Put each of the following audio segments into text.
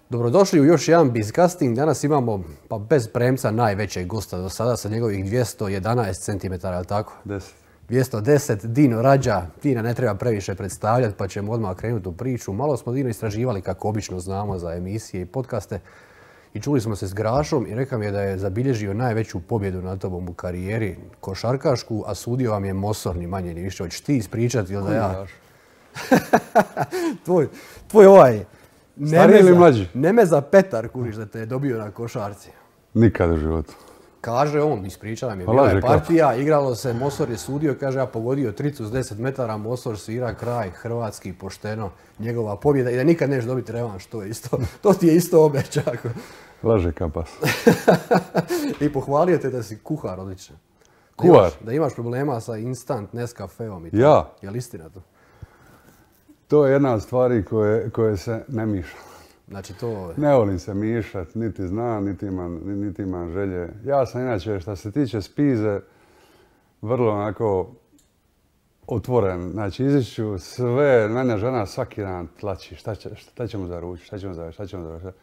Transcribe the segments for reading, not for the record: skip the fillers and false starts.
Dobrodošli u još jedan Bizcasting. Danas imamo, pa bez premca, najvećeg gosta do sada sa njegovih 211 cm, ali tako? 10. 210, Dino Rađa. Dina ne treba previše predstavljati, pa ćemo odmah krenuti u priču. Malo smo Dino istraživali, kako obično znamo, za emisije i podcaste. I čuli smo se s Grašom i rekao mi je da je zabilježio najveću pobjedu nad tobom u karijeri košarkašku, a sudio vam je Mosor, ni manje ni više. Hoćeš ti ispričati ili da ja? tvoj ovaj... Stariji ili mlađi? Nemeza Petar, kuriš, da te je dobio na košarci. Nikad u životu. Kaže on, ispričala mi je, bila je partija, igralo se, Mosor je sudio, kaže ja pogodio tricu s 10 metara, Mosor svira kraj, hrvatski, pošteno, njegova pobjeda i da nikad neš dobiti revanš, to ti je isto obećao. Laže kapas. I pohvalio te da si kuhar odličan. Kuhar? Da imaš problema sa instant Nescafeom i to. Ja? Je li istina to? To je jedna od stvari koje se ne miša. Znači to... Ne volim se mišat, niti znam, niti imam želje. Ja sam inače, što se tiče spize, vrlo onako otvoren. Znači, iziću sve, mene žena svaki dan tlači. Šta ćemo za ruč, šta ćemo za ruč.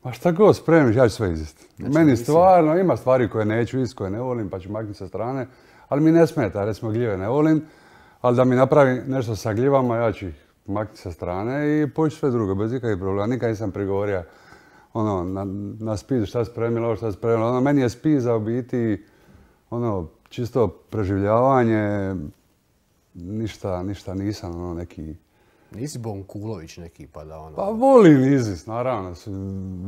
Ma šta god spremiš, ja ću sve izist. Znači, meni stvarno ima stvari koje neću ist, koje ne volim, pa ću maknuti sa strane. Ali mi ne smeta, recimo gljive ne volim. Ali da mi napravi nešto sa gljivama, ja ću ih maknuti sa strane i poći sve drugo, bez ikakvih problema. Nikad nisam prigovorio na spizu šta spremilo, šta spremilo. Meni je spiza u biti čisto preživljavanje, ništa nisam neki... Nisi Bonkulović neki pa da Pa volim izist, naravno.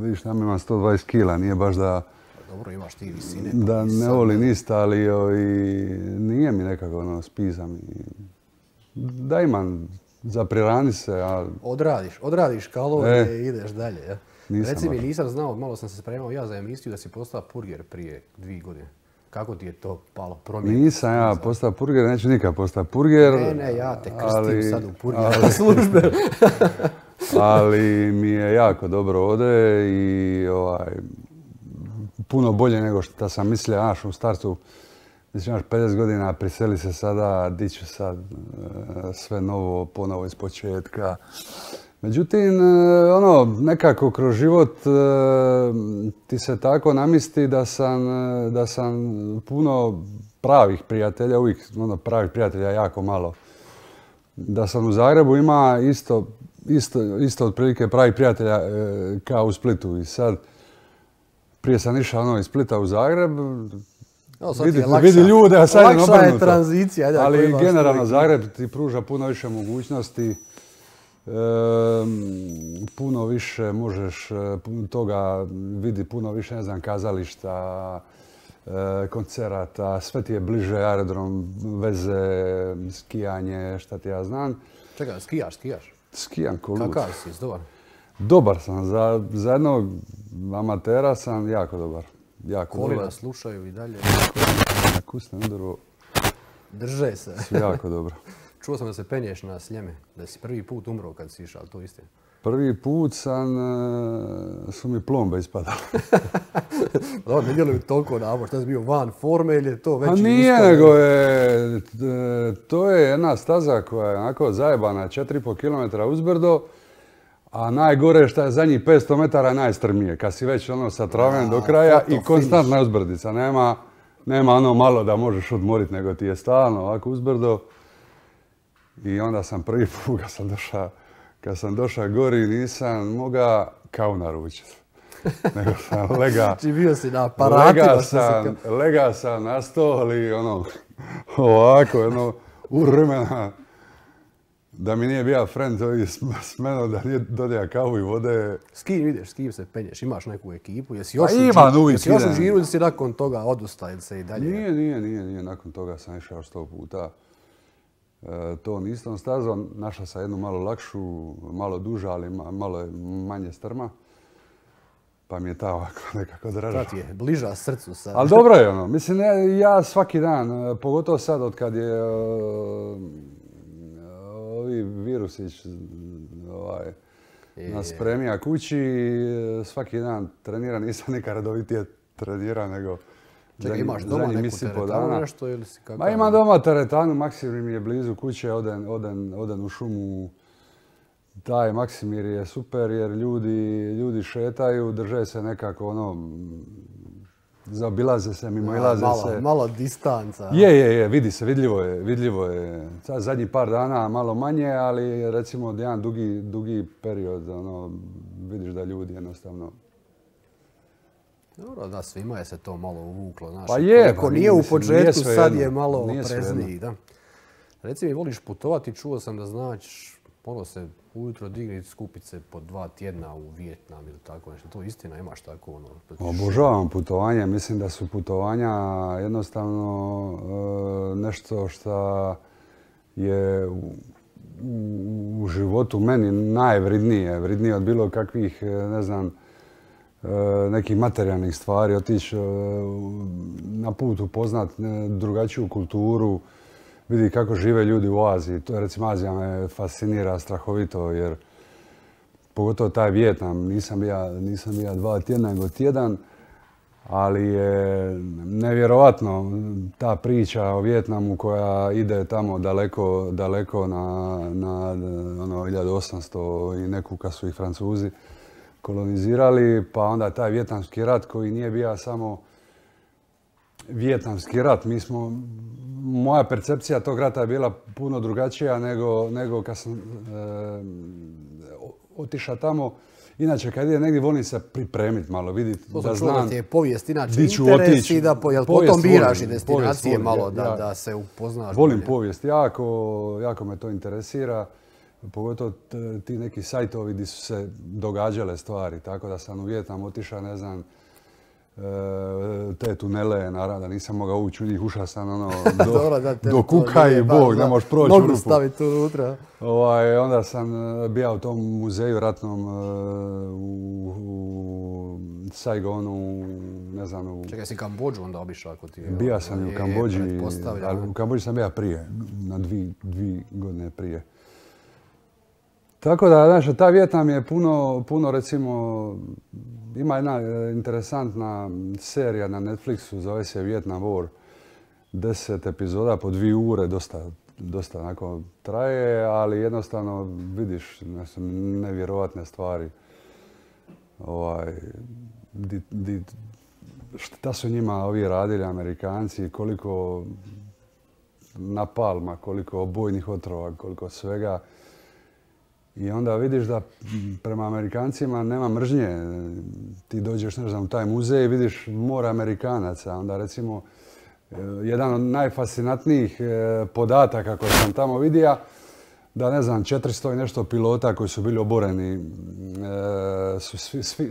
Vidiš, nam imam 120 kila, nije baš da... Dobro, imaš ti visine. Da ne volim ništa, ali nije mi nekako spiza mi... Da imam za prirani se, a... Odradiš kalorije i ideš dalje, ja? Reci mi, nisam znao, malo sam se spremao ja za emisiju da si postao purger prije 2 godine. Kako ti je to palo promijeniti? Nisam ja postao purger, neću nikad postao purger. Ne, ja te krstim sad u purger službe. Ali mi je jako dobro ode i puno bolje nego što sam mislio, u startu. Mislim, imaš 50 godina, priseli se sada, di ću sad sve novo, ponovo iz početka. Međutim, nekako kroz život ti se tako namisli da sam puno pravih prijatelja, uvijek pravih prijatelja jako malo. Da sam u Zagrebu ima isto otprilike pravih prijatelja kao u Splitu. I sad, prije sam išao iz Splita u Zagreb, vidi ljude, a sad je obrnuto. Lakša je tranzicija. Ali generalno Zagreb ti pruža puno više mogućnosti. Puno više možeš toga vidi, puno više, ne znam, kazališta, koncerata, sve ti je bliže, aerodrom, veze, skijanje, šta ti ja znam. Čekaj, skijaš? Skijam ko lud. Kakav si, dobar? Dobar sam, za jednog amatera sam jako dobar. Kolina slušaju i dalje. Na kusne udru. Drže se. Jako dobro. Čuo sam da se penješ na Sljeme, da si prvi put umro kad si išao, ali to istina? Prvi put su mi plombe ispadale. Dobro, ne djeluju toliko nabor, šta si bio van forme ili je to veći uspad? Nije, nego to je jedna staza koja je onako zajebana, 4,5 km uzbrdo, a najgore je što je zadnjih 500 metara najstrmije, kad si već sa traven do kraja i konstantna uzbrdica. Nema malo da možeš odmoriti, nego ti je stalno ovako uzbrdo. I onda sam prvi put kad sam došao gori nisam mogao kao naručiti. Nego sam bio si na aparatima. Lega sam na stol i ovako, urmena. Da mi nije bio friend s menom, da nije dodija kavu i vode. S kim ideš, s kim se penješ? Imaš neku ekipu? Jesi još u Žiru ili si nakon toga odustao se i dalje? Nije. Nakon toga sam išao 100 puta. To nisam stazom. Našao sam jednu malo lakšu, malo duža, ali malo manje strma. Pa mi je ta ovako nekako draža. Ta ti je bliža srcu sad. Ali dobro je Mislim, ja svaki dan, pogotovo sad od kad je ovi virusić nas spremija kući. Svaki dan treniram, nisam neka redovitije trenirao, nego Čekaj, imaš doma neku teretanu nešto ili si kakav? Ma imam doma teretanu, Maksimir mi je blizu kuće, odem u šumu. Taj Maksimir je super jer ljudi šetaju, drže se nekako zaobilaze se, mimoilaze se. Malo distanca. Je, vidi se, vidljivo je. Zadnjih par dana malo manje, ali recimo jedan dugi period, vidiš da ljudi jednostavno... Dobro, da, svima je se to malo uvuklo. Znaš, pa je, ako nije u početku, sad je malo oprezniji. Da. Reci mi, voliš putovati, čuo sam da znaš, se ujutro digni, skupit se po 2 tjedna u Vijetnam ili tako nešto. To istina, imaš tako Obožavam putovanje. Mislim da su putovanja jednostavno nešto što je u životu meni najvridnije. Vridnije od bilo kakvih, ne znam, nekih materijalnih stvari. Otići na put upoznat drugačiju kulturu, vidi kako žive ljudi u Aziji. To je, recimo, Azija me fascinira strahovito jer pogotovo taj Vijetnam, nisam bio 2 tjedna nego tjedan, ali je nevjerovatno ta priča o Vijetnamu koja ide tamo daleko na 1800 i neku kad su ih Francuzi kolonizirali, pa onda taj Vijetnamski rat koji nije bio samo Vijetnamski rat. Moja percepcija tog rata je bila puno drugačija nego kad sam otišao tamo. Inače, kad ide negdje, volim se pripremiti malo, vidjeti da znam... To ti je povijest, inače interes i da potom biraš i destinacije malo da se upoznaš. Volim povijest, jako me to interesira. Pogotovo ti neki sajtovi gdje su se događale stvari. Tako da sam u Vijetnam otišao, ne znam, te tunele, naravno, nisam mogao ući u njih, ušao sam do kuka i Bog, ne možeš proći u rupu. Nogu staviti unutra. Onda sam bio u tom muzeju ratnom u Saigonu, ne znam... Čekaj, si Kambodžu onda obišao ako ti je... Bio sam i u Kambodži, ali u Kambodži sam bio prije, na 2 godine prije. Tako da, znaš, ta Vijetnam je puno, recimo, ima jedna interesantna serija na Netflixu, zove se Vietnam War, 10 epizoda po 2 ure, dosta onako traje, ali jednostavno vidiš nevjerovatne stvari. Šta su njima ovi radili, Amerikanci, koliko napalma, koliko bojnih otrova, koliko svega. I onda vidiš da prema Amerikancima nema mržnje. Ti dođeš, ne znam, u taj muzej i vidiš more Amerikanaca. Onda recimo, jedan od najfascinantnijih podataka koje sam tamo vidio, da ne znam, 400 i nešto pilota koji su bili oboreni,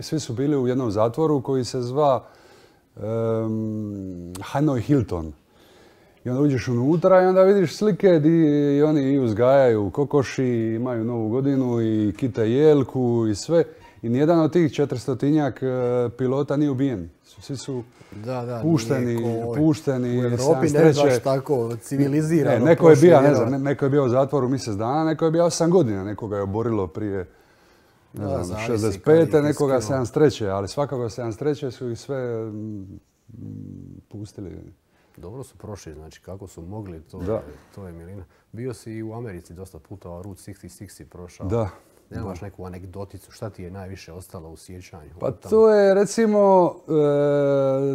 svi su bili u jednom zatvoru koji se zva Hanoi Hilton. I onda uđeš unutra i onda vidiš slike gdje oni uzgajaju kokoši, imaju Novu godinu i kite jelku i sve. I nijedan od tih 400-tinjak pilota nije ubijen. Svi su pušteni. U Europi ne baš tako civilizirano. Neko je bio u zatvoru mjesec dana, neko je bio 8 godina. Nekoga je oborilo prije 65. nekoga 73. Ali svakako 73. su ih sve pustili. Dobro su prošli, znači kako su mogli, to je milina. Bio si i u Americi dosta puta, Route 66 si prošao. Da. Nemaš neku anegdoticu, šta ti je najviše ostalo u sjećanju? Pa to je, recimo,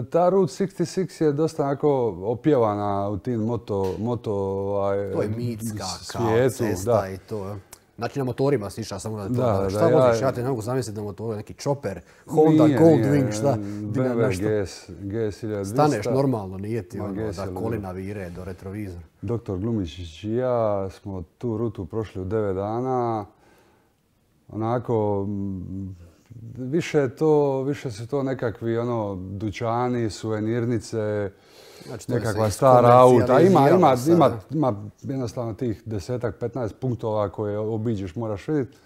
ta Route 66 je dosta onako opjevana u tim to je mitska kao cesta i to. Znači na motorima si išao samo na to. Šta voziš? Ja te ne mogu zamisliti na motoru, neki chopper, Honda Goldwing, šta? BMW GS 1200. Staneš normalno, nije ti da kolina vire do retrovizora. Doktor Glumičić i ja smo tu rutu prošli u 9 dana. Onako, više su to nekakvi dućani, suvenirnice, znači, nekakva stara auta. Ima jednostavno tih 10-15 punktova koje obiđeš, moraš vidjeti.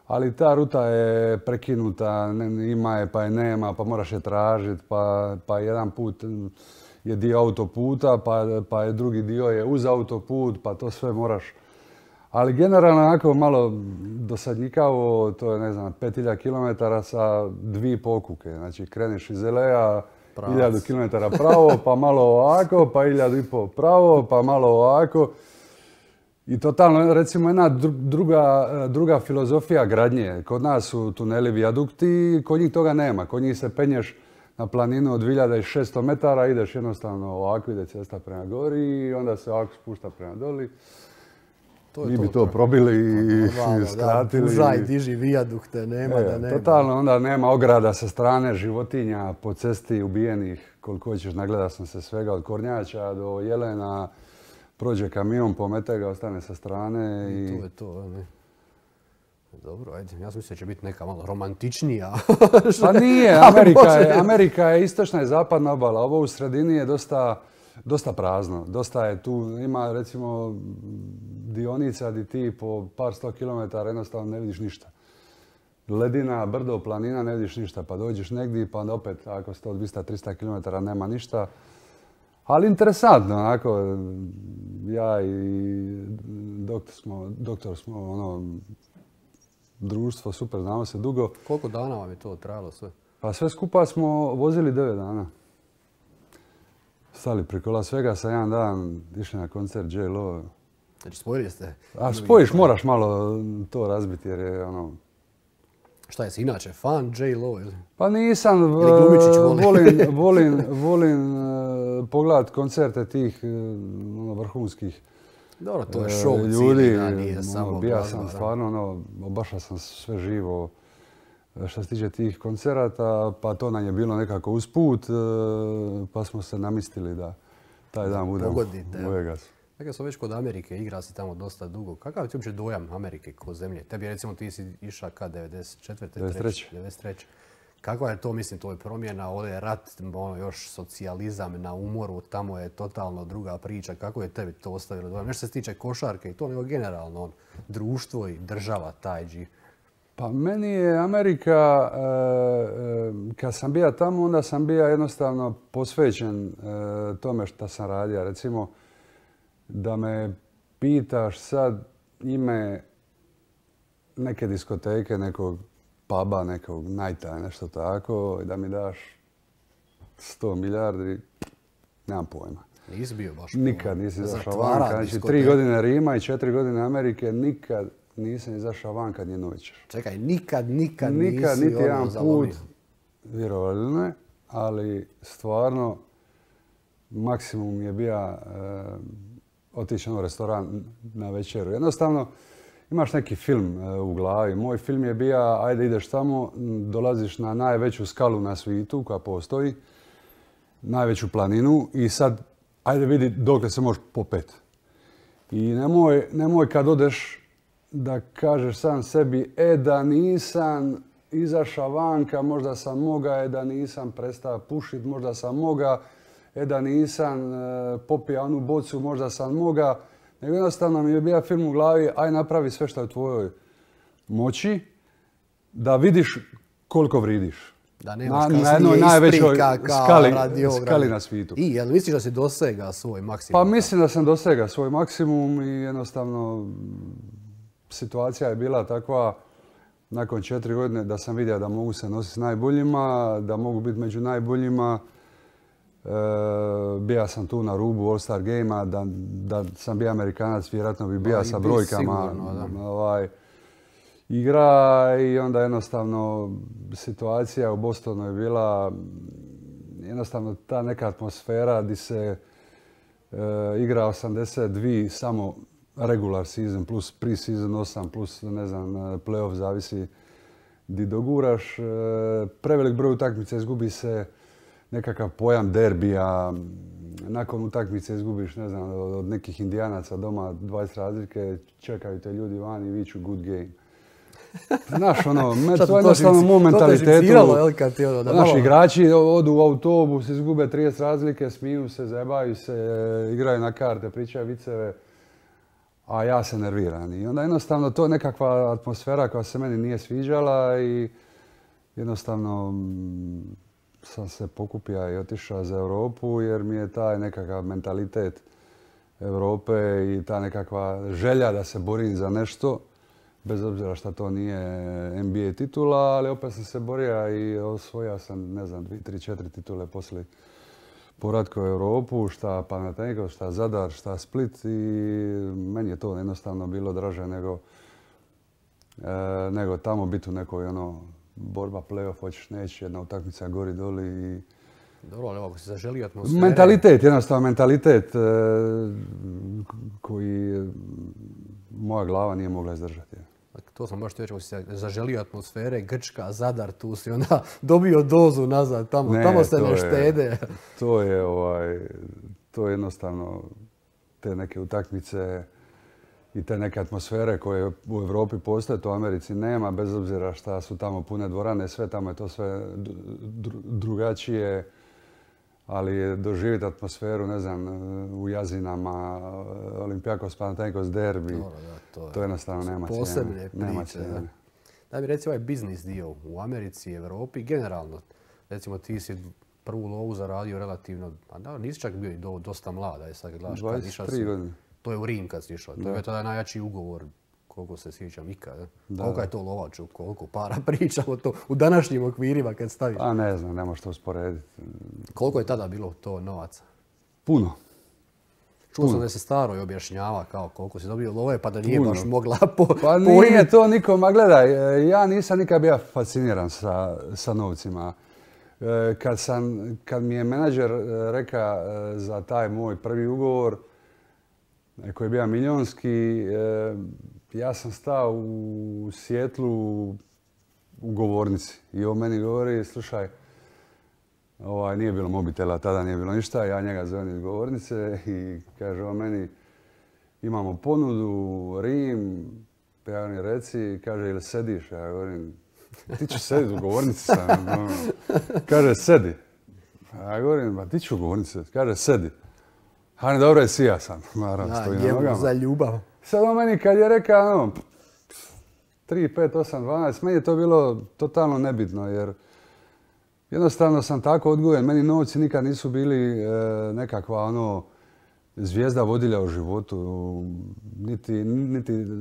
Ali ta ruta je prekinuta, ima je pa je nema, pa moraš je tražiti, pa jedan put je dio autoputa, pa je drugi dio je uz autoput, pa to sve moraš. Ali generalno onako malo dosadnjikavo, to je ne znam, 5000 km sa 2 pokuke. Znači kreneš iz LA 1000 km pravo, pa malo ovako, pa 1500 pravo, pa malo ovako. I totalno, recimo, jedna druga filozofija gradnje. Kod nas su tuneli, vijadukti, kod njih toga nema. Kod njih se penješ na planinu od 2600 metara, ideš jednostavno ovako, ide cesta prema gori i onda se ovako spušta prema doli. Mi bi to probili i skratili. Pužaj, diži vijadukte, nema da nema. Totalno, onda nema ograda sa strane, životinja po cesti ubijenih, koliko ćeš, nagleda sam se svega od kornjača do jelena. Prođe kamion, pomete ga, ostane sa strane i... To je to, ne? Dobro, ajde, ja sam mislio da će biti neka malo romantičnija. Pa nije, Amerika je istočna i zapadna obala. Ovo u sredini je dosta prazno. Dosta je tu, ima recimo dionica di ti po par 100 kilometara jednostavno ne vidiš ništa. Ledina, brdo, planina, ne vidiš ništa. Pa dođeš negdje pa onda opet ako 100, 200, 300 kilometara nema ništa. Ali interesantno, onako, ja i doktor smo ono, društvo, super, znamo se dugo. Koliko dana vam je to trajalo sve? Pa sve skupa smo vozili 9 dana. Stali preko Las Vegasa jedan dan, išli na koncert J-Lo. Znači spojili ste? A spojiš, moraš malo to razbiti jer je ono... Šta je si inače, fan J-Lo ili? Pa nisam, volim pogledat koncerte tih vrhunskih dobro, to je show ljudi. Da, nije samo Bija sam stvarno, obašao sam sve živo što se tiče tih koncerata, pa to nam je bilo nekako usput, pa smo se namistili da taj dan budemo u Vegasu. Dakle, sam već kod Amerike, igra si tamo dosta dugo. Kakav je ti uopće dojam Amerike kao zemlje? Tebi recimo ti si išao kad 93. Kakva je to, mislim, to je promjena, ovdje je rat, još socijalizam na umoru, tamo je totalno druga priča. Kako je tebi to ostavilo dojam? Nešto se tiče košarke i to, nego generalno društvo i država, taj dživ. Pa meni je Amerika, kad sam bio tamo, onda sam bio jednostavno posvećen tome što sam radio. Recimo, da me pitaš sad ime neke diskoteke, nekog puba, nekog nighta, nešto tako, i da mi daš 100 milijardi, nemam pojma. Nisi bio baš nikad nisi izašao vanka. Znači, 3 godine Rima i 4 godine Amerike, nikad nisam izašao vanka ni jednu večer. Čekaj, nikad nisi niti jedan put, vjerovali ili ne, ali stvarno maksimum je bio otići u restoran na večeru. Jednostavno, imaš neki film u glavi. Moj film je bio, ajde ideš tamo, dolaziš na najveću skalu na svijetu koja postoji, najveću planinu i sad, ajde vidi dokle se možeš popet. I nemoj kad odeš da kažeš sam sebi, da nisam izašao vanka, možda sam moga, da nisam prestao pušiti, možda sam moga, da nisam popio onu bocu, možda sam moga. Nego jednostavno mi je bio film u glavi, aj napravi sve što je u tvojoj moći, da vidiš koliko vridiš. Da nemaš kasnije isprika kao radi ovoga. Skali na svijetu. I, jel misliš da si dosega svoj maksimum? Pa mislim da sam dosega svoj maksimum i jednostavno situacija je bila takva nakon 4 godine da sam vidio da mogu se nositi s najboljima, da mogu biti među najboljima. Bija sam tu na rubu All-Star Game-a, da sam bio Amerikanac, vjerojatno bi bio sa brojkama igra i onda jednostavno situacija u Bostonu je bila jednostavno ta neka atmosfera gdje se igra 82 samo regular season plus pre-season 8 plus ne znam playoff zavisi gdje doguraš. Prevelik broj utakmica, izgubi se nekakav pojam derbija, nakon utakmice izgubiš, ne znam, od nekih Indijanaca doma 20 razlike, čekaju te ljudi van i viču good game. Znaš, ono, to je jednostavno moj mentalitetu. Naši igrači odu u autobus, izgube 30 razlike, smiju se, zajebaju se, igraju na karte, pričaju viceve, a ja se nerviram. I onda jednostavno to je nekakva atmosfera koja se meni nije sviđala i jednostavno sam se pokupio i otišao za Europu jer mi je taj nekakav mentalitet Europe i ta nekakva želja da se borim za nešto, bez obzira što to nije NBA titula, ali opet sam se borio i osvojio sam, ne znam, 2, 3, 4 titule poslije povratka u Europu, šta Panathinaikos, šta Zadar, šta Split i meni je to jednostavno bilo draže nego tamo biti u nekoj borba, play-off, hoćeš neći, jedna utakmica gori doli i... Dobro, ali ako si zaželio atmosfere... Mentalitet, jednostavno mentalitet koji moja glava nije mogla izdržati. To sam baš reći, ako si zaželio atmosfere, Grčka, Zadar, tu si onda dobio dozu nazad, tamo se ne štede. To je jednostavno te neke utakmice i te neke atmosfere koje u Europi postoje, to u Americi nema, bez obzira šta su tamo pune dvorane, sve tamo je to sve drugačije, ali doživjeti atmosferu, ne znam, u Jazinama, Olympiakos, Panathinaikos, derbi, to jednostavno nema cijene. Posebne priče. Da mi reci ovaj biznis dio u Americi, Europi, generalno, recimo ti si prvu lovu zaradio relativno, a da, nisi čak bio i dosta mlada, je sad gledaš kad išao si. 23 godine. To je u Rim kad si išao, to je tada najjači ugovor, koliko se sjećam ikada. Koliko je to lovaču, koliko para pričamo to u današnjim okvirima kad staviš? A ne znam, ne možeš to usporediti. Koliko je tada bilo to novaca? Puno. Čuo sam da se staroj objašnjava kao koliko si dobio love pa da nije baš mogla Pa nije to nikom, a gledaj, ja nisam nikad bio fasciniran sa novcima. Kad mi je menadžer rekao za taj moj prvi ugovor, koji je bio milionski, ja sam stao u Sijetlu u govornici i on meni govori, slušaj, nije bilo mobitela, tada nije bilo ništa, ja njega zovem iz govornice i kaže on meni, imamo ponudu, Rim, ja mi reci, kaže, ili sediš? Ja govorim, ti ću sediti u govornici sam. Kaže, sedi. Ja govorim, ba ti ću u govornici, kaže, sedi. Hani, dobro je, sija sam. Naravno, stojim na nogama. Za ljubav. Sad on meni kad je rekao, 3, 5, 8, 12, meni je to bilo totalno nebitno, jer jednostavno sam tako odgojen. Meni novci nikad nisu bili nekakva zvijezda vodilja u životu. Niti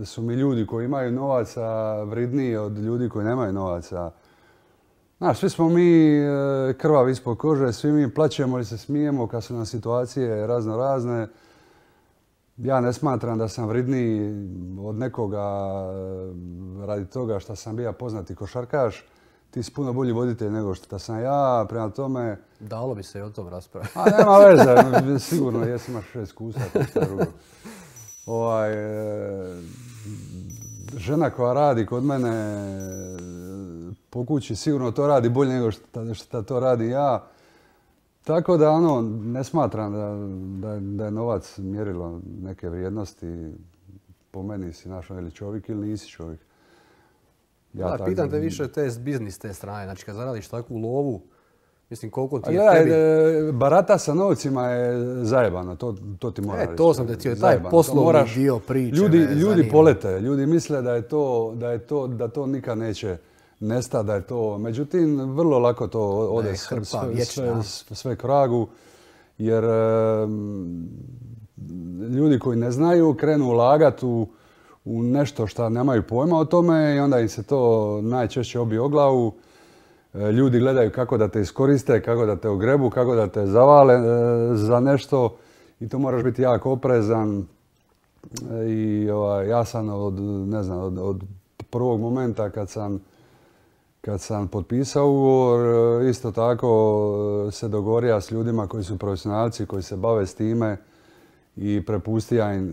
su mi ljudi koji imaju novaca vridniji od ljudi koji nemaju novaca. Znaš, svi smo mi krvavi ispod kože, svi mi plaćemo i se smijemo kad su nam situacije razne. Ja ne smatram da sam vridniji od nekoga radi toga što sam bio poznati košarkaš. Ti si puno bolji voditelj nego što sam ja, prema tome... Dalo bi se i o tom raspraviti. A nema veze, sigurno jesi imaš 6 iskustva, to drugo. Žena koja radi kod mene po kući sigurno to radi bolje nego što to radi ja. Tako da ne smatram da je novac mjerilo neke vrijednosti. Po meni si našao ili čovjek ili nisi čovjek. Pitam te više te biznis te strane. Znači kad zaradiš takvu lovu, mislim koliko ti je tebi... Barata sa novcima je zajebano, to ti mora reći. To sam te htio, taj poslovni dio priče. Ljudi polete, ljudi misle da to nikad neće nestati, da je to... Međutim, vrlo lako to ode sve k vragu, jer ljudi koji ne znaju krenu ulagati u nešto što nemaju pojma o tome i onda im se to najčešće obije o glavu. Ljudi gledaju kako da te iskoriste, kako da te ogrebu, kako da te zavale za nešto i to moraš biti jako oprezan. I ja sam od prvog momenta kad sam potpisao ugovor, isto tako se dogovorio s ljudima koji su profesionalci, koji se bave s time i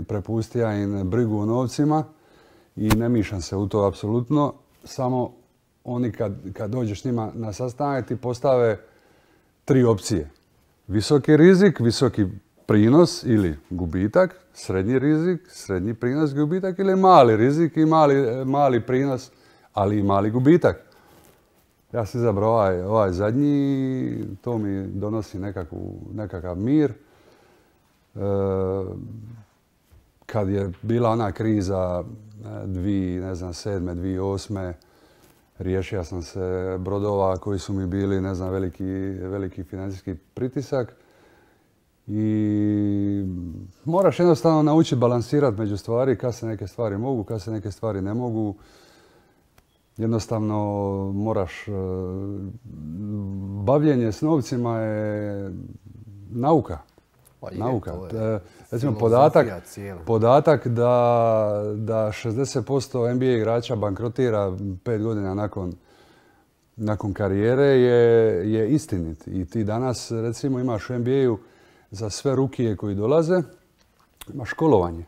prepustija im brigu o novcima i ne mišam se u to apsolutno. Samo oni kad dođeš s njima na sastanak ti postave 3 opcije. Visoki rizik, visoki prinos ili gubitak, srednji rizik, srednji prinos, gubitak ili mali rizik i mali prinos, ali i mali gubitak. Ja sam izabrao ovaj zadnji, to mi donosi nekakav mir. Kad je bila ona kriza 2007. 2008. riješio sam se brodova koji su mi bili, veliki financijski pritisak. I moraš jednostavno naučiti balansirati među stvari, kad se neke stvari mogu, kad se neke stvari ne mogu. Jednostavno moraš, bavljenje s novcima je nauka. Nauka. Recimo podatak da 60% NBA igrača bankrotira 5 godina nakon karijere je istinit. I ti danas recimo imaš u NBA-u za sve rukije koji dolaze, imaš školovanje.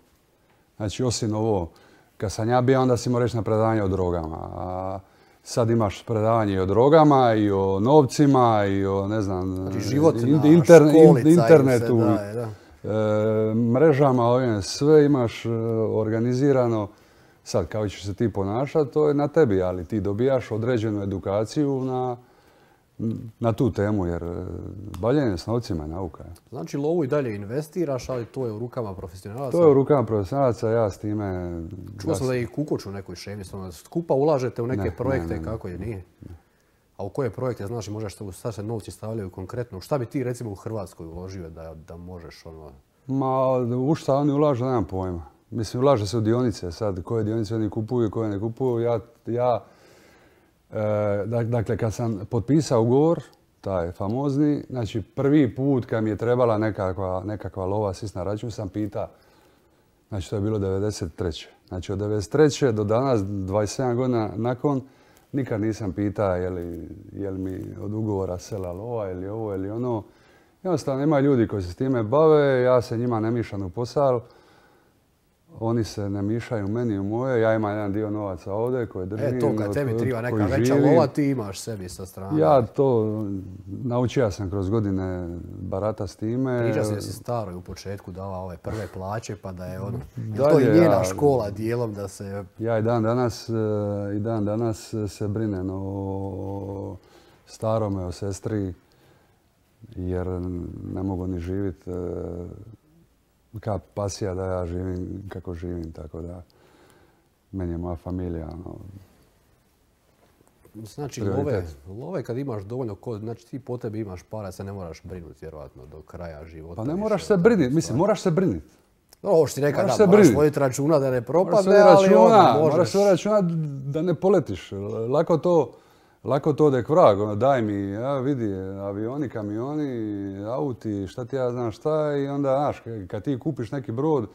Znači osim ovo, kad sam ja bio, onda si morao reći na predavanje o drogama. A sad imaš predavanje i o drogama, i o novcima, i o, ne znam, internetu, mrežama, ovim, sve imaš organizirano. Sad, kako ćeš se ti ponašati, to je na tebi, ali ti dobijaš određenu edukaciju na tu temu, jer bavljenje s novcima je nauka. Znači, lovu i dalje investiraš, ali to je u rukama profesionalaca? To je u rukama profesionalaca, ja s time... Čuo sam da je i Kukoč u nekoj šemi, skupa ulažete u neke projekte, kako je, nije? A u koje projekte, znači, možeš sad se novci stavljaju konkretno? Šta bi ti, recimo, u Hrvatskoj uložio da možeš ono... Ma, u šta oni ulažu, nemam pojma. Mislim, ulaže se u dionice sad, koje dionice oni kupuju, koje ne kupuju. Dakle, kad sam potpisao ugovor, taj famozni, znači prvi put kad mi je trebala nekakva lova sist na račun, sam pita, znači to je bilo 93. Znači od 93. do danas, 27 godina nakon, nikad nisam pita je li mi od ugovora sela lova ili ovo ili ono. Jednostavno ima ljudi koji se s time bave, ja se njima ne mišam u posao. Oni se ne mišaju meni u moje, ja imam jedan dio novaca ovdje koje držim. To kad tebi treba neka veća lova, ti imaš sebi sa strane. Ja to naučio sam kroz godine barata s time. Priča se da si staroj u početku dava ove prve plaće, pa da je ono... To je njena škola dijelom da se... Ja i dan danas se brinem o starome, o sestri, jer ne mogu ni živjeti kao pasija da ja živim kako živim, tako da meni je moja familija. Znači, love kad imaš dovoljno, znači ti po tebi imaš para, se ne moraš brinuti vjerojatno do kraja života. Pa ne moraš se brinuti, mislim, moraš se brinuti. Ovo što ti rekao, da moraš voditi računa da ne propadne, ali možeš. Moraš voditi računa da ne poletiš. Lako to odek vrag, daj mi, vidi, avioni, kamioni, auti, šta ti ja znam šta, i onda, znaš, kad ti kupiš neki brod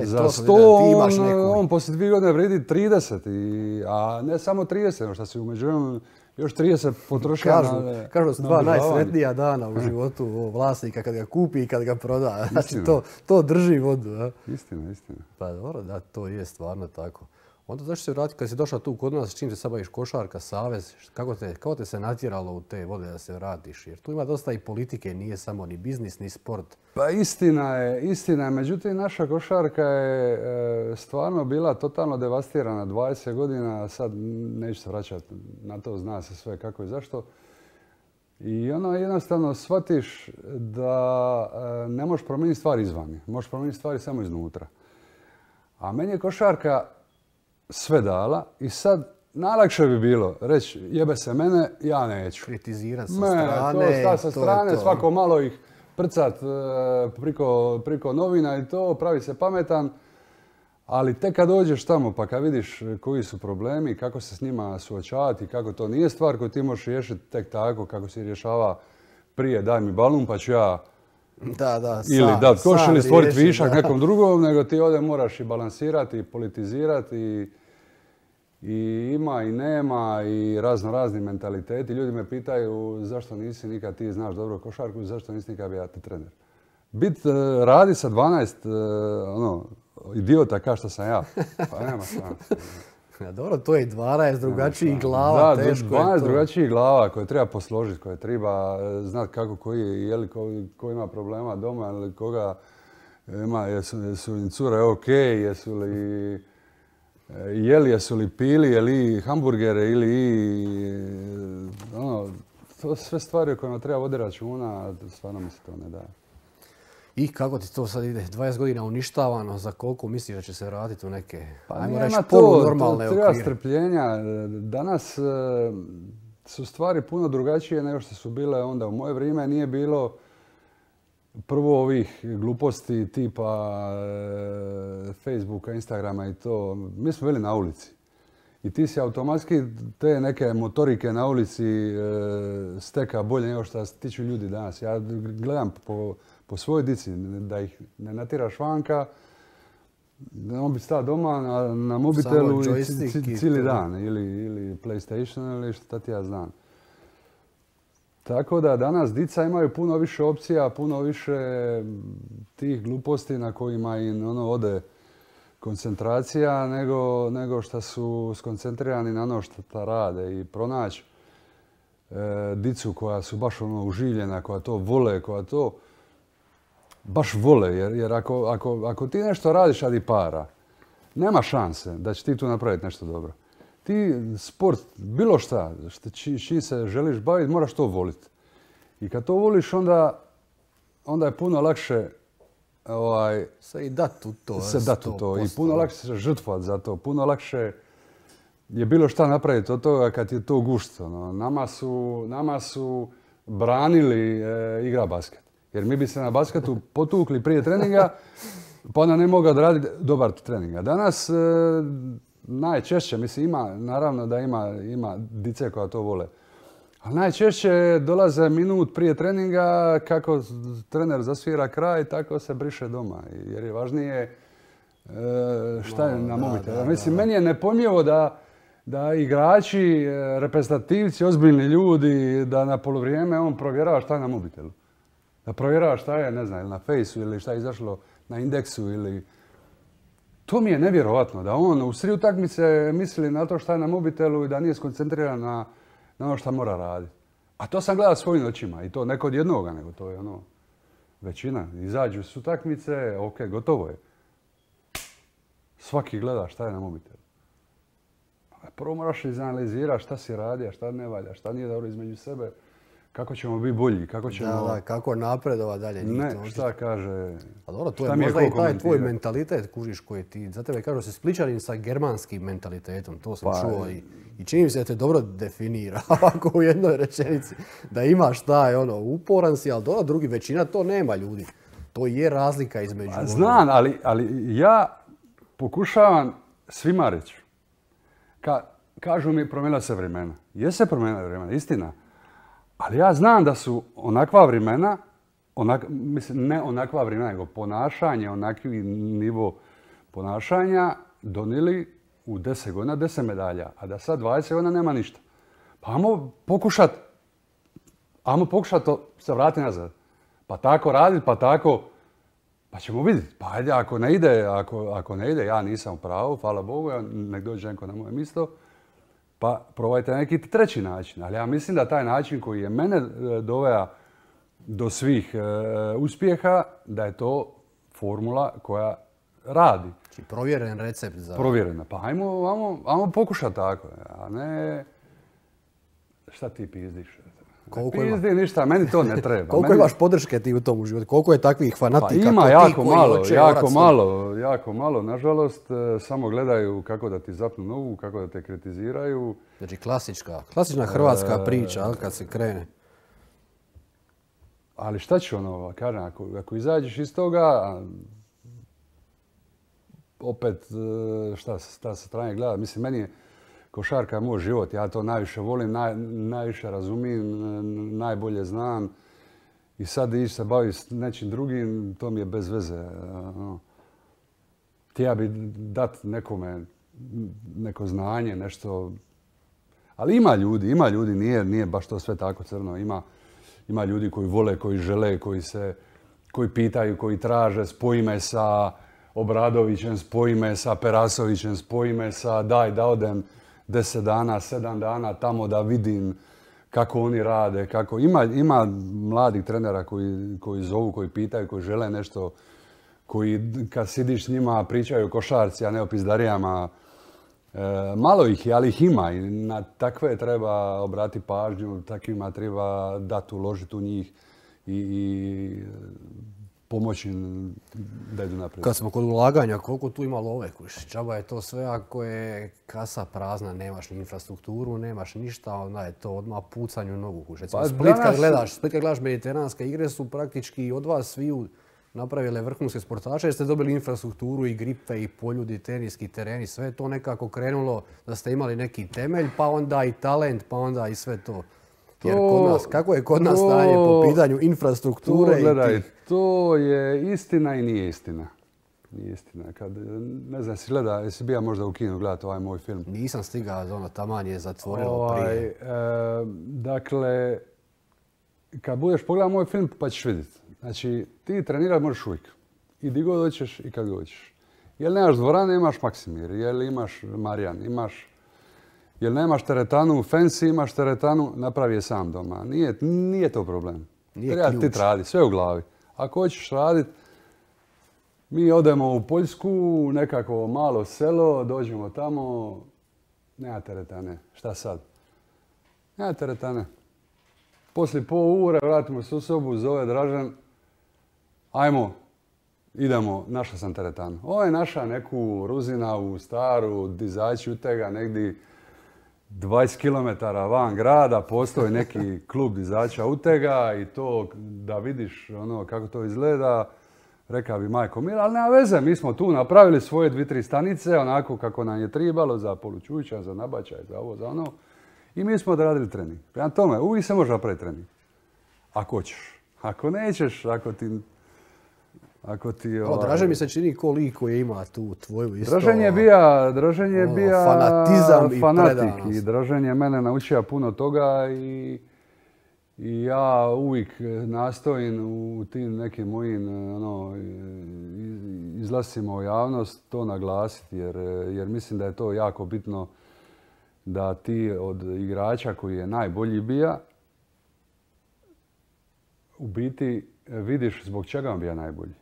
za 100, on poslije 2 godine vredi 30, a ne samo 30, nego šta si umeđu još 30 potrošio na... Kažu da su 2 najsretnija dana u životu vlasnika kad ga kupi i kad ga proda. Znači, to drži vodu. Istina. Pa dobro, da, to je stvarno tako. Onda zašto se vratiti, kad si došao tu kod nas, s čim se sad baviš, košarka, savez, kako te se natjeralo u te vode da se vratiš? Jer tu ima dosta i politike, nije samo ni biznis, ni sport. Pa istina je. Međutim, naša košarka je stvarno bila totalno devastirana 20 godina, sad neću se vraćati na to, zna se sve kako i zašto. I ono jednostavno shvatiš da ne možeš promijeniti stvari izvani, možeš promijeniti stvari samo iznutra. A meni je košarka sve dala i sad najlakše bi bilo reći jebe se mene, ja neću. Kritizirati sa strane. To sa strane, svako malo ih prcat priko novina i to, pravi se pametan. Ali tek kad dođeš tamo pa kad vidiš koji su problemi, kako se s njima suočavati, kako to nije stvar koju ti možeš riješiti tek tako kako si rješava prije, daj mi balun pa ću ja ili dat koš ili stvoriti višak nekom drugom, nego ti ovdje moraš i balansirati, i politizirati, i ima i nema, i razni mentaliteti. Ljudi me pitaju zašto nisi nikad ti znaš dobro košarku, zašto nisi nikad bio ti trener. Radi sa 12 idiota kao što sam ja, pa nema šanse. Dobro, to je 12 drugačijih glava, teško je to. 12 drugačijih glava koje treba posložiti, koje treba znati kako ko ima problema doma ili koga ima, jesu im cure ok, jesu li pili, jeli hamburgere ili to sve stvari o kojima treba voditi računa, stvarno mi se to ne da. I kako ti to sad ide? 20 godina uništavano, za koliko misliš da će se vratiti u neke, ajmo reći, polunormalne okvire? Treba strpljenja. Danas su stvari puno drugačije nego što su bile onda. U moje vrijeme nije bilo prvo ovih gluposti tipa Facebooka, Instagrama i to, mi smo bili na ulici. I ti si automatski te neke motorike na ulici steka bolje nego što se tiču ljudi danas. Ja gledam po svojoj dici da ih ne natiraš vanka, on bi stao doma na mobitelu i cijeli dan. Ili PlayStation ili šta ti ja znam. Tako da danas dica imaju puno više opcija, puno više tih gluposti na kojima im ode koncentracija nego što su skoncentrirani na ono što rade i pronaći dicu koja su baš uživljena, koja to vole, koja to baš vole. Jer ako ti nešto radiš radi para, nema šanse da će ti tu napraviti nešto dobro. Ti sport, bilo šta, čim se želiš baviti, moraš to voliti. I kad to voliš, onda je puno lakše se i dati u to. I puno lakše se žrtvovati za to. Puno lakše je bilo šta napraviti od toga kad je to gusto. Nama su branili igra basket. Jer mi bi se na basketu potukli prije treninga, pa onda ne mogao odraditi dobar trening. Danas najčešće, mislim, naravno da ima dice koja to vole. Ali najčešće dolaze minut prije treninga, kako trener zasvira kraj, tako se briše doma. Jer je važnije šta je na mobitelu. Mislim, meni je nepojmljivo da igrači, reprezentativci, ozbiljni ljudi, da na polovrijeme on provjerava šta je na mobitelu. Da provjerava šta je, ne znam, ili na Fejsu ili šta je izašlo na Indeksu ili... To mi je nevjerovatno, da on u sred utakmice misli na to šta je na mobitelu i da nije skoncentriran na ono što mora raditi. A to sam gledao svojim očima i to ne kod jednoga, nego to je većina. Izađu s utakmice, ok, gotovo je. Svaki gleda šta je na mobitelu. Prvo moraš izanalizirati šta si radio, šta ne valja, šta nije dobro između sebe, kako ćemo biti bolji, kako ćemo... kako napredovati dalje. Ne, šta kaže... A dobro, to je možda i taj tvoj mentalitet, kužiš, koji ti... Za tebe kažu da si Splićanin sa germanskim mentalitetom, to sam čuo i čini mi se da te dobro definira, ovako u jednoj rečenici. Da imaš taj, uporan si, ali dobro, drugi većina to nema ljudi. To je razlika između... Znam, ali ja pokušavam svima reći. Kažu mi, promijenila se vremena. Jeste promijenila vremena, istina. Ali ja znam da su onakva vremena, mislim ne onakva vremena, nego ponašanje, onakvi nivo ponašanja donijeli u 10 godina 10 medalja, a da sad 20 godina nema ništa. Pa ajmo pokušati to se vratiti nazad. Pa tako raditi, pa ćemo vidjeti. Pa ajde, ako ne ide, ja nisam u pravu, hvala Bogu, nek dođe neko na moje mjesto. Pa probajte neki treći način. Ali ja mislim da taj način koji je mene doveo do svih uspjeha, da je to formula koja radi. Znači provjeren recept za... Provjerena. Pa ajmo pokušati tako. A ne... Šta ti pizdiš? Ne pizdi ništa, meni to ne treba. Koliko imaš podrške ti u tom životu? Koliko je takvih fanatika? Pa ima jako malo. Nažalost, samo gledaju kako da ti zapnu nogu, kako da te kritiziraju. Znači klasična hrvatska priča, kad se krene. Ali šta ću kažem, ako izađeš iz toga, opet šta sa strane gleda, mislim, meni je košarka moj život, ja to najviše volim, najviše razumijem, najbolje znam i sad ići se baviti s nečim drugim, to mi je bez veze. Htio bi dati nekome neko znanje, nešto, ali ima ljudi, nije baš to sve tako crno, ima ljudi koji vole, koji žele, koji pitaju, koji traže, spoji me sa Obradovićem, spoji me sa Perasovićem, spoji me sa daj da odem 10 dana, 7 dana tamo da vidim kako oni rade. Ima mladih trenera koji zovu, koji pitaju, koji žele nešto, koji kad sidiš s njima pričaju o košarci, a ne o pizdarijama. Malo ih je, ali ih ima i na takve treba obratiti pažnju, takvima treba dati, uložiti u njih i pomoći da idu naprijed. Kad smo kod ulaganja, koliko tu ima love, džaba je to sve ako je kasa prazna, nemaš ni infrastrukturu, nemaš ništa, onda je to odmah pucanju u nogu. Recimo, Split kad gledaš mediteranske igre su praktički od vas sviju napravile vrhunske sportaše jer ste dobili infrastrukturu i gripe i poljudi, teniski tereni, sve je to nekako krenulo da ste imali neki temelj, pa onda i talent, pa onda i sve to. Jer kod nas, kako je kod nas stanje po pitanju infrastrukture? Gledaj, to je istina i nije istina. Nije istina. Kad, ne znam, jesi bija možda u kinu gledati ovaj moj film? Nisam stigao, taman je zatvorilo prije. Dakle, kad budeš pogledao moj film pa ćeš vidjeti. Znači, ti trenirati možeš uvijek. I di god hoćeš i kad god hoćeš. Jel nemaš dvorane, imaš Maksimir. Jel imaš Marijan, imaš... Jel nemaš teretanu u Fancy, imaš teretanu, napravi je sam doma. Nije to problem. Treba ti raditi, sve u glavi. Ako hoćeš raditi, mi odemo u Poljsku, nekako malo selo, dođemo tamo, nema teretane. Šta sad? Nema teretane. Poslije pol ure vratimo se u sobu, zove Dražen, ajmo, idemo, našao sam teretanu. Ovo je naša neku Ruzinavu, staru, dizači utega, negdje 20 km van grada, postoji neki klub dizača utega i to da vidiš kako to izgleda, rekao bi majko Mila, ali nema veze, mi smo tu napravili svoje 2-3 stanice, onako kako nam je tribalo za polučuća, za nabačaj, za ovo, za ono. I mi smo odradili trening. Prema tome, uvijek se može napraviti trening. Ako hoćeš. Ako nećeš, ako ti... Dražen mi se čini ko lik koji ima tu tvoju isto... Dražen je bija fanatizam i fanatik. I Dražen je mene naučio puno toga i ja uvijek nastojim u tim nekim mojim izlascima u javnost to naglasiti jer mislim da je to jako bitno da ti od igrača koji je najbolji bija u biti vidiš zbog čega on bija najbolji.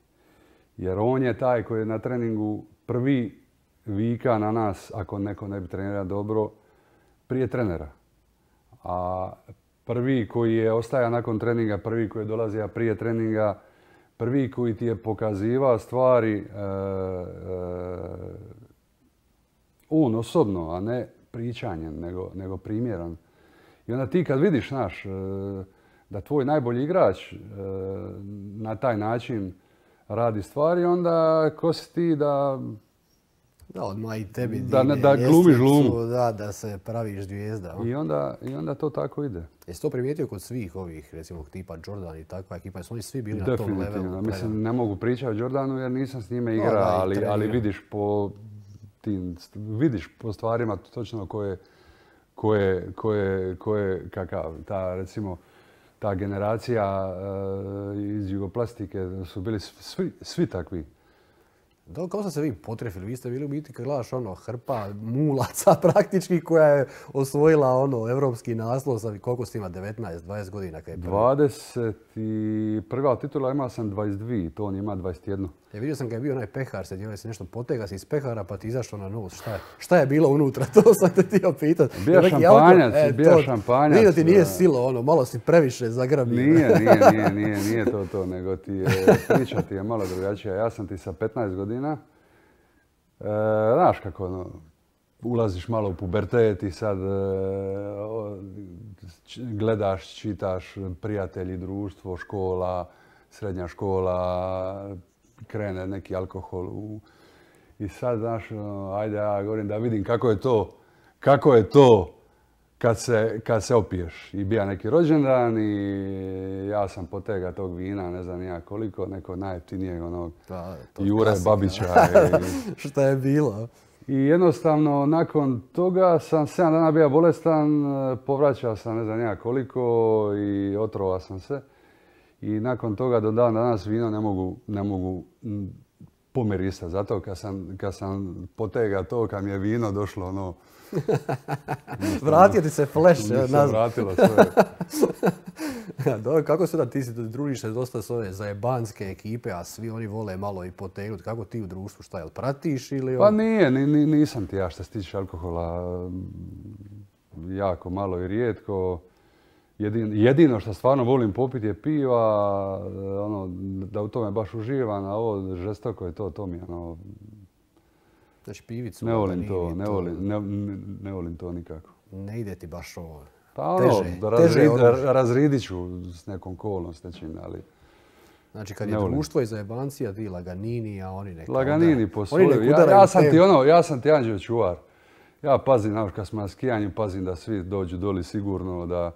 Jer on je taj koji je na treningu prvi vika na nas ako neko ne bi trenirao dobro prije trenera. A prvi koji je ostaja nakon treninga, prvi koji je dolazio prije treninga, prvi koji ti je pokazivao stvari on osobno, a ne pričanjem, nego primjerom. I onda ti kad vidiš, da tvoj najbolji igrač na taj način radi stvari, onda ko si ti da... Da, odmah i tebi da glumiš glumu. Da se praviš zvijezda. I onda to tako ide. Jesi to primijetio kod svih ovih, recimo tipa Jordan i takva ekipa? Su oni svi bili na tom levelu? Definitivno. Mislim, ne mogu pričati o Jordanu jer nisam s njime igrao, ali vidiš po stvarima točno ko je kakav. Ta generacija iz Jugoplastike su bili svi takvi. Da, kao ste se vi potrefili? Vi ste bili u biti kad gledaš hrpa mulaca praktički koja je osvojila evropski naslov sa koliko ste ima 19-20 godina? 20 prva titula imao sam 22, to on ima 21. Vidio sam kad je bio onaj pehar, se djeluje se nešto potega se iz pehara pa ti izašao na nos. Šta je bilo unutra? To sam te htio pitat. Bija šampanjac. Vidio ti nije silo, malo si previše zagrabio. Nije to, nego priča ti je malo drugačija. Ja sam ti sa 15 godina, znaš kako ulaziš malo u pubertet i sad gledaš, čitaš, prijatelji, društvo, škola, srednja škola, krene neki alkohol i sad, znaš, ajde ja govorim da vidim kako je to kad se opiješ. I bija neki rođendan i ja sam potega tog vina, ne znam ja koliko, neko najjeftinijeg Jure Babića. Šta je bilo? I jednostavno nakon toga sam 7 dana bio bolestan, povraćao sam ne znam ja koliko i otrovao sam se. I nakon toga do dan danas vino ne mogu pomirisati. Zato kad sam potega to, kad mi je vino došlo Vratio ti se flash nazad. Vratilo sve. Dobro, kako se da ti družiš se dosta s ove zajebanske ekipe, a svi oni vole malo i potegnuti. Kako ti u društvu, šta jel pratiš ili... Pa nisam ti ja što se tiče alkohola jako malo i rijetko. Jedino što stvarno volim popiti je piva, ono, da u tome baš uživam, a ovo žestoko je to mi je ono... Znači pivicu, ne volim to, ne volim to nikako. Ne ide ti baš ovo. Pa ono, razridit ću s nekom kolom, s nečim, ali... Znači kad je društvo i zajebancija, ti Laganini, a oni neka... Laganini posolio. Ja sam ti anđeo čuvar. Ja pazim, znaš, kad smo na skijanju, pazim da svi dođu doli sigurno, da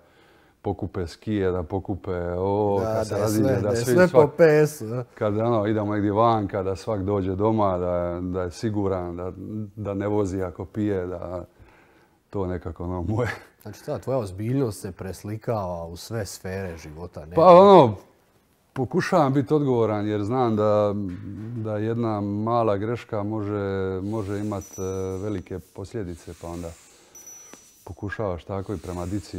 pokupe skije, da pokupe ovo, kad se raziđe, da svi sve po PS-u. Kad idemo negdje vanka, da svak dođe doma, da je siguran, da ne vozi ako pije, da to nekako ono moje. Znači ta tvoja ozbiljnost se preslikava u sve sfere života. Pa ono, pokušavam biti odgovoran jer znam da jedna mala greška može imati velike posljedice, pa onda pokušavaš tako i prema dici.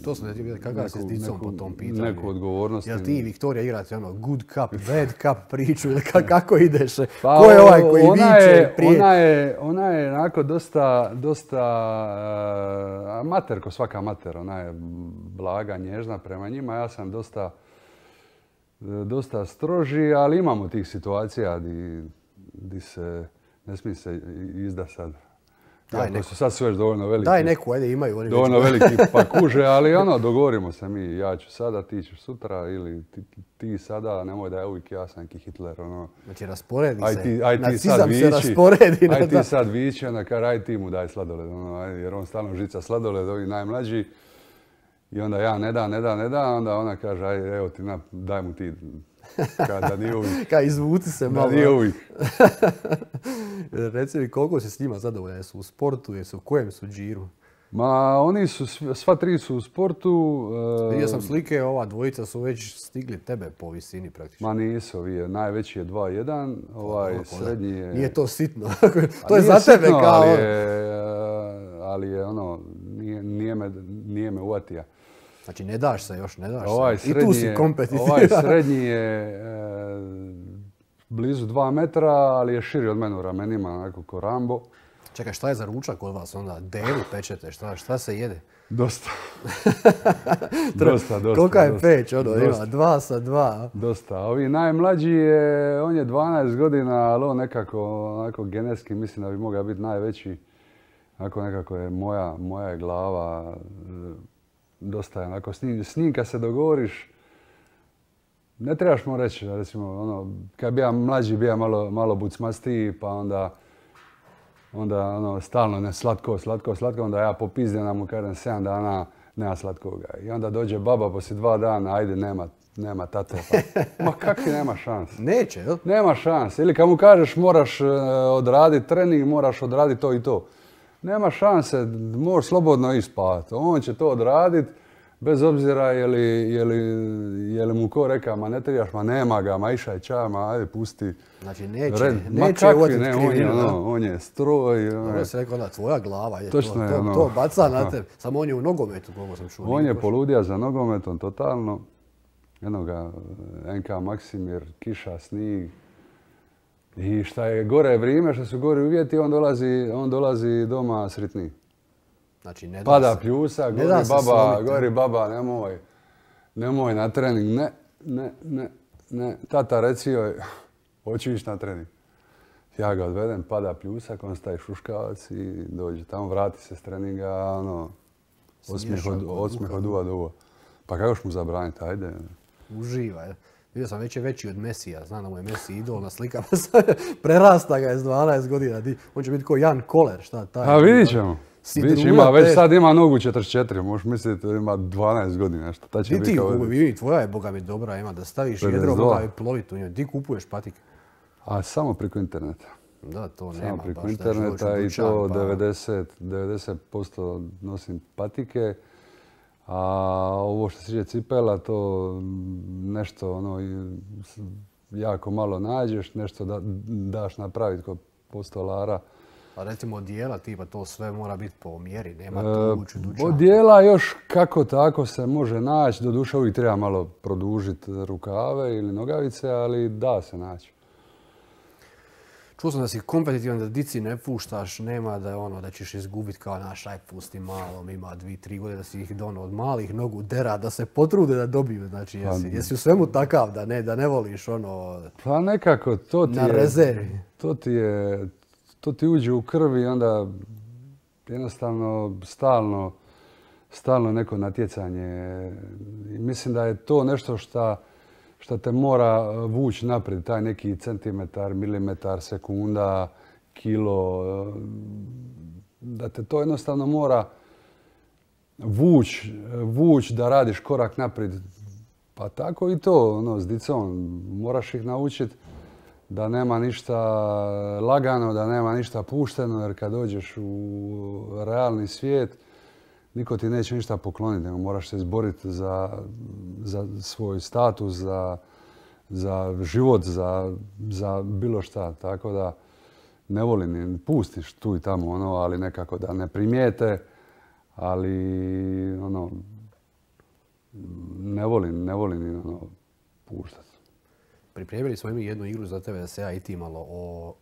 To smo vidjeli kakav se s dicom po tom pitanju. Neku odgovornost. Jel ti i Viktorija igrate ono good cup, bad cup priču ili kako ideš? Ko je ovaj koji viče prije? Ona je onako dosta amater, ko svaka amater. Ona je blaga, nježna prema njima. Ja sam dosta stroži, ali imamo tih situacija di se ne smije se izda sad. To su sad su već dovoljno veliki. Daj neku, ajde imaju. Oni dovoljno veliki pa kuže, ali ono, dogovorimo se mi. Ja ću sada, ti ćeš sutra ili ti sada, nemoj da je uvijek ja sam neki Hitler. Ono. Znači rasporedi se, nacizam se rasporedi. Aj ti sad vići, onda kar aj ti mu daj sladoled. Ono, jer on stalno žica sladoled, ovi najmlađi. I onda ja ne da, onda ona kaže aj evo ti, daj mu ti. Da nije uvijek. Kaj izvuci se malo. Da nije uvijek. Reci mi koliko si s njima zadovoljan? Jesu u sportu, jesu u kojem su džiru? Ma oni su, sva tri su u sportu. Vidio sam slike, ova dvojica su već stigli tebe po visini praktično. Ma nisu, najveći je 2-1, ovaj srednji je... Nije to sitno, to je za tebe kao... Ali je ono, nije me uvatija. Znači ne daš se još, ne daš se. I tu si kompetitivan. Ovaj srednji je blizu 2 metra, ali je širi od mene u ramenima, onako ko Rambo. Čekaj, šta je za ručak kod vas onda? Devu pečete, šta se jede? Dosta. Kolika je peć, ono, ima 2 sa 2. Dosta. Ovi najmlađi on je 12 godina, ali on nekako genetski mislim da bi mogao biti najveći. Onako nekako je moja je glava, dosta je onako s njim kad se dogovoriš, ne trebaš mu reći, recimo, ono, kad bi ja mlađi, bi ja malo bucmastiji, pa onda ono, stalno ne slatko, onda ja popizdim mu kažem 7 dana nema slatkoga. I onda dođe baba poslije 2 dana, ajde nema tate. Pa, ma kakvi nema šanse? Neće, jel? Nema šanse. Ili kad mu kažeš moraš odraditi trening, moraš odraditi to i to. Nema šanse, možeš slobodno ispati. On će to odraditi, bez obzira je li mu ko reka, ma ne trebaš, ma nema ga, ma išaj ča, ma ajde pusti. Znači neće uvatiti krivinu. On je stroj. Dobro si rekao, tvoja glava je to baca na tebe. Samo on je u nogometu, koliko sam čuo. On je poludija za nogometom totalno. Jednoga NK Maksimir, kiša, snig. I šta je gore vrijeme, što su gori uvjeti, on dolazi doma sretniji. Znači, ne da pada pljusa, gori baba, nemoj na trening, ne. Tata reci joj, hoću ići na trening. Ja ga odvedem, pada pljusak, on staje šuškavac i dođe tamo, vrati se s treninga, ono, osmijeh od uva do uva. Pa kako ćeš mu zabraniti, ajde. Uživa, je. Vidio sam već je veći od Mesija, znam da mu je Messi idol na slikama, prerasta ga je s 12 godina, on će biti kao Jan Koller, šta taj. A vidit ćemo. Već sad ima nogu 44, možeš misliti da ima 12 godina. Ti, tvoja je, boga mi dobra, ima da staviš jedro, boga mi ploviti u njoj. Ti kupuješ patike? A samo preko interneta. Da, to nema baš. Samo preko interneta i to 90% nosim patike. A ovo što se tiče cipela, to nešto ono, jako malo nađeš, nešto daš napraviti kod postolara. A recimo odijela tipa to sve mora biti po mjeri, nema tu ući dućan. Odijela još kako tako se može naći, doduše uvijek treba malo produžiti rukave ili nogavice, ali da se naći. Čuo sam da si kompetitivan, da dici ne puštaš, nema da je ono da ćeš izgubiti kao naš, aj pusti malom, ima 2-3 godine da si ih dono od malih nogu dera, da se potrude da dobiju. Znači, jesi u svemu takav da ne voliš ono Pa nekako, na rezervi. To ti uđe u krvi i onda jednostavno stalno neko natjecanje. I mislim da je to nešto što te mora vući naprijed, taj neki centimetar, milimetar, sekunda, kilo, da te to jednostavno mora vući da radiš korak naprijed. Pa tako i to, ono, s dicom, moraš ih naučiti da nema ništa lagano, da nema ništa pušteno, jer kad dođeš u realni svijet, niko ti neće ništa pokloniti, nego moraš se izboriti za svoj status, za život, za bilo šta. Tako da ne volim, pustiš tu i tamo, ono, ali nekako da ne primijete, ali ono, ne volim ono, puštati. Pripremili smo mi jednu igru za tebe da se ja i ti malo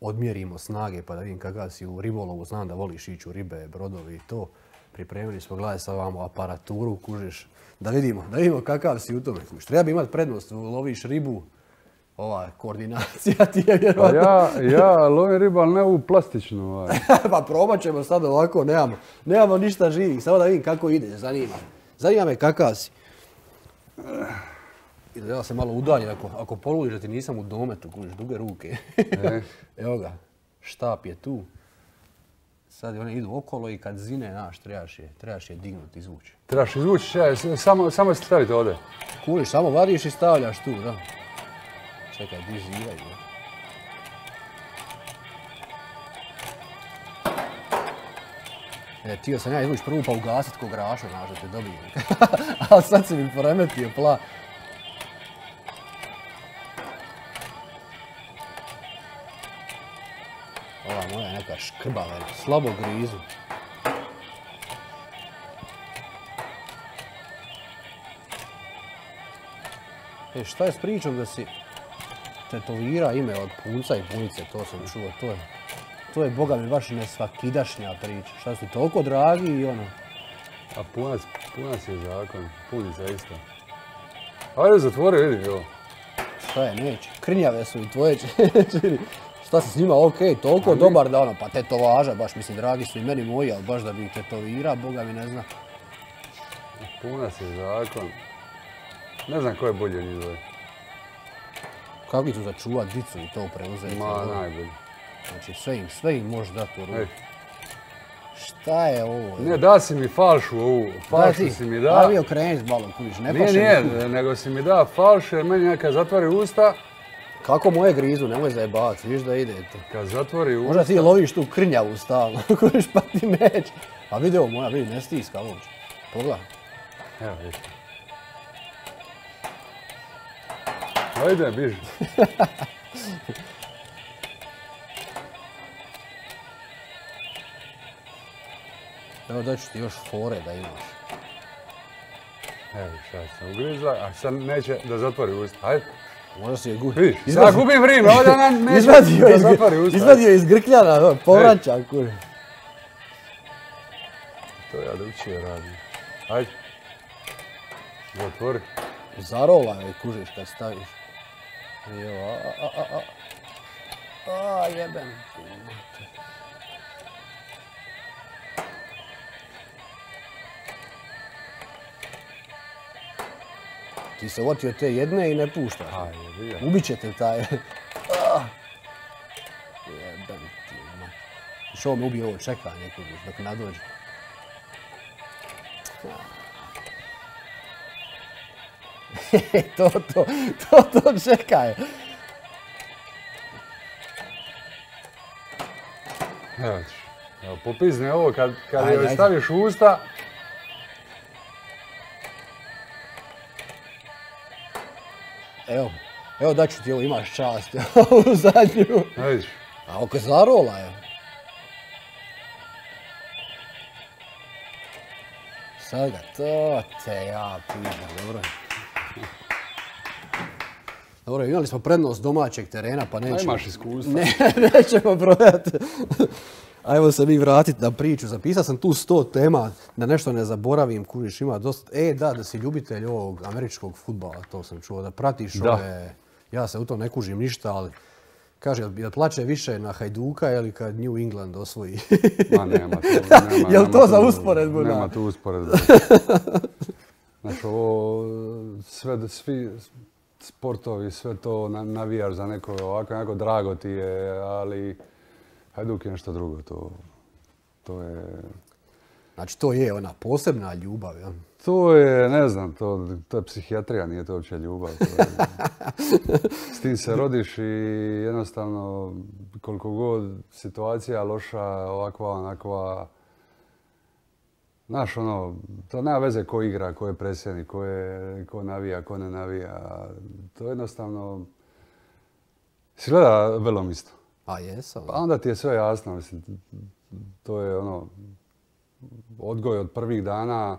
odmjerimo snage pa da vidim kakav si u ribolovu. Znam da voliš ići u ribe, brodovi i to. Pripremili smo, gledaj sad ovamo aparaturu, kužiš, da vidimo kakav si u tome. Treba bi imati prednost, loviš ribu, ova koordinacija ti je vjerovatno. Pa ja lovim ribu, ali ne u plastičnu. Pa probat ćemo sad ovako, nemamo ništa živih, samo da vidim kako ide, zanima me kakav si. I da ja se malo udaljim, ako poludiš da ti nisam u dometu, kužiš, duge ruke. Evo ga, štap je tu. Sad one idu okolo i kad zine, znaš, trebaš je dignuti, izvući. Trebaš izvući, samo se staviti ovdje. Kuliš, samo vadiš i stavljaš tu, da. Čekaj, di živaju. Tio sam ja izvući prvu pa ugasit ko graša, znaš, da te dobijem. Ali sad si mi poremetio pla. Ova moja neka škrba, slabo grizu. Šta je s pričom da si tetovira ime od punca i punice, to sam čuo, to je boga mi baš nesvakidašnja priča. Šta su ti toliko dragi i ono? A punac je zakon, punica isto. Ajde, zatvori, vidi ovo. Šta je, neće. Krnjave su i tvoje čini. Šta si s njima, okej, toliko dobar da ono, pa tetovaža, baš mislim, dragi su i meni moji, ali baš da bi ih tetovira, boga mi ne zna. Punac je zakon. Ne znam ko je bolji od njih dvoje. Kako ću začuvat dicu i to preuzeti? Ma, najbolji. Znači, sve im možeš dati u ruku. Šta je ovo? Ne, da si mi falšu ovu. Falšu si mi da. Ajde okrenit malo, kuviš, ne paše. Nije, nego si mi da falšu jer meni kad zatvori usta. Kako moje grizu, nemoj zajebavati, viš da idete. Kad zatvori usta. Možda ti loviš tu krnjavu stalno, kuviš pa ti neće. A vidi ovo moja, vidi, ne stiska uopće. Pogledaj. Evo, vidi. Ajde, biži. Evo daću ti još fore da imaš. Evo šta sam ugrizla, a sad neće da zatvori usta. Ajde. Možda si je gubi. Vidiš, sad gubim vrijeme, ovdje ona neće da zatvori usta. Izvadio iz grkljana, povraća, kuri. To ja drugčije radim. Ajde. Zatvori. Zarola je, kužiš kad staviš. Jo, jebem ti mater. Ti se otio te jedne i ne puštaš. Ubit će te taj. Jebem ti mater. Što me ubije ovo čekanje, kužiš, dok nadođe. To čekaj. Evo ćeš. Evo, popizne ovo kad joj staviš u usta. Evo daću ti ovo, imaš čast. U zadnju. Vidiš. A oko zarola je. Sad ga, to te ja pitam, dobro. Dobro, imali smo prednost domaćeg terena, pa nećemo... Imaš iskustva. Nećemo prodati. Ajmo se mi vratiti na priču. Zapisao sam tu 100 tema, da nešto ne zaboravim, kužiš, ima dosta... da si ljubitelj ovog američkog fudbala, to sam čuo, da pratiš ove... Ja se u to ne kužim ništa, ali kaže, jel plače više na Hajduka ili kad New England osvoji? Ma nema to. Jel to za usporedbu? Nema tu usporedbu. Znači, ovo, svi sportovi, sve to navijaš za neko ovako drago ti je, ali Hajduk je nešto drugo. To je... Znači, to je ona posebna ljubav, jel? To je, ne znam, to je psihijatrija, nije to uopće ljubav. S tim se rodiš i jednostavno koliko god situacija loša, ovakva, onakva, znaš, ono, to nema veze ko igra, ko je predsjednik, ko navija, ko ne navija. To jednostavno... Si gleda Velom isto? A jesam. Pa onda ti je sve jasno, mislim. To je ono... Odgoj od prvih dana.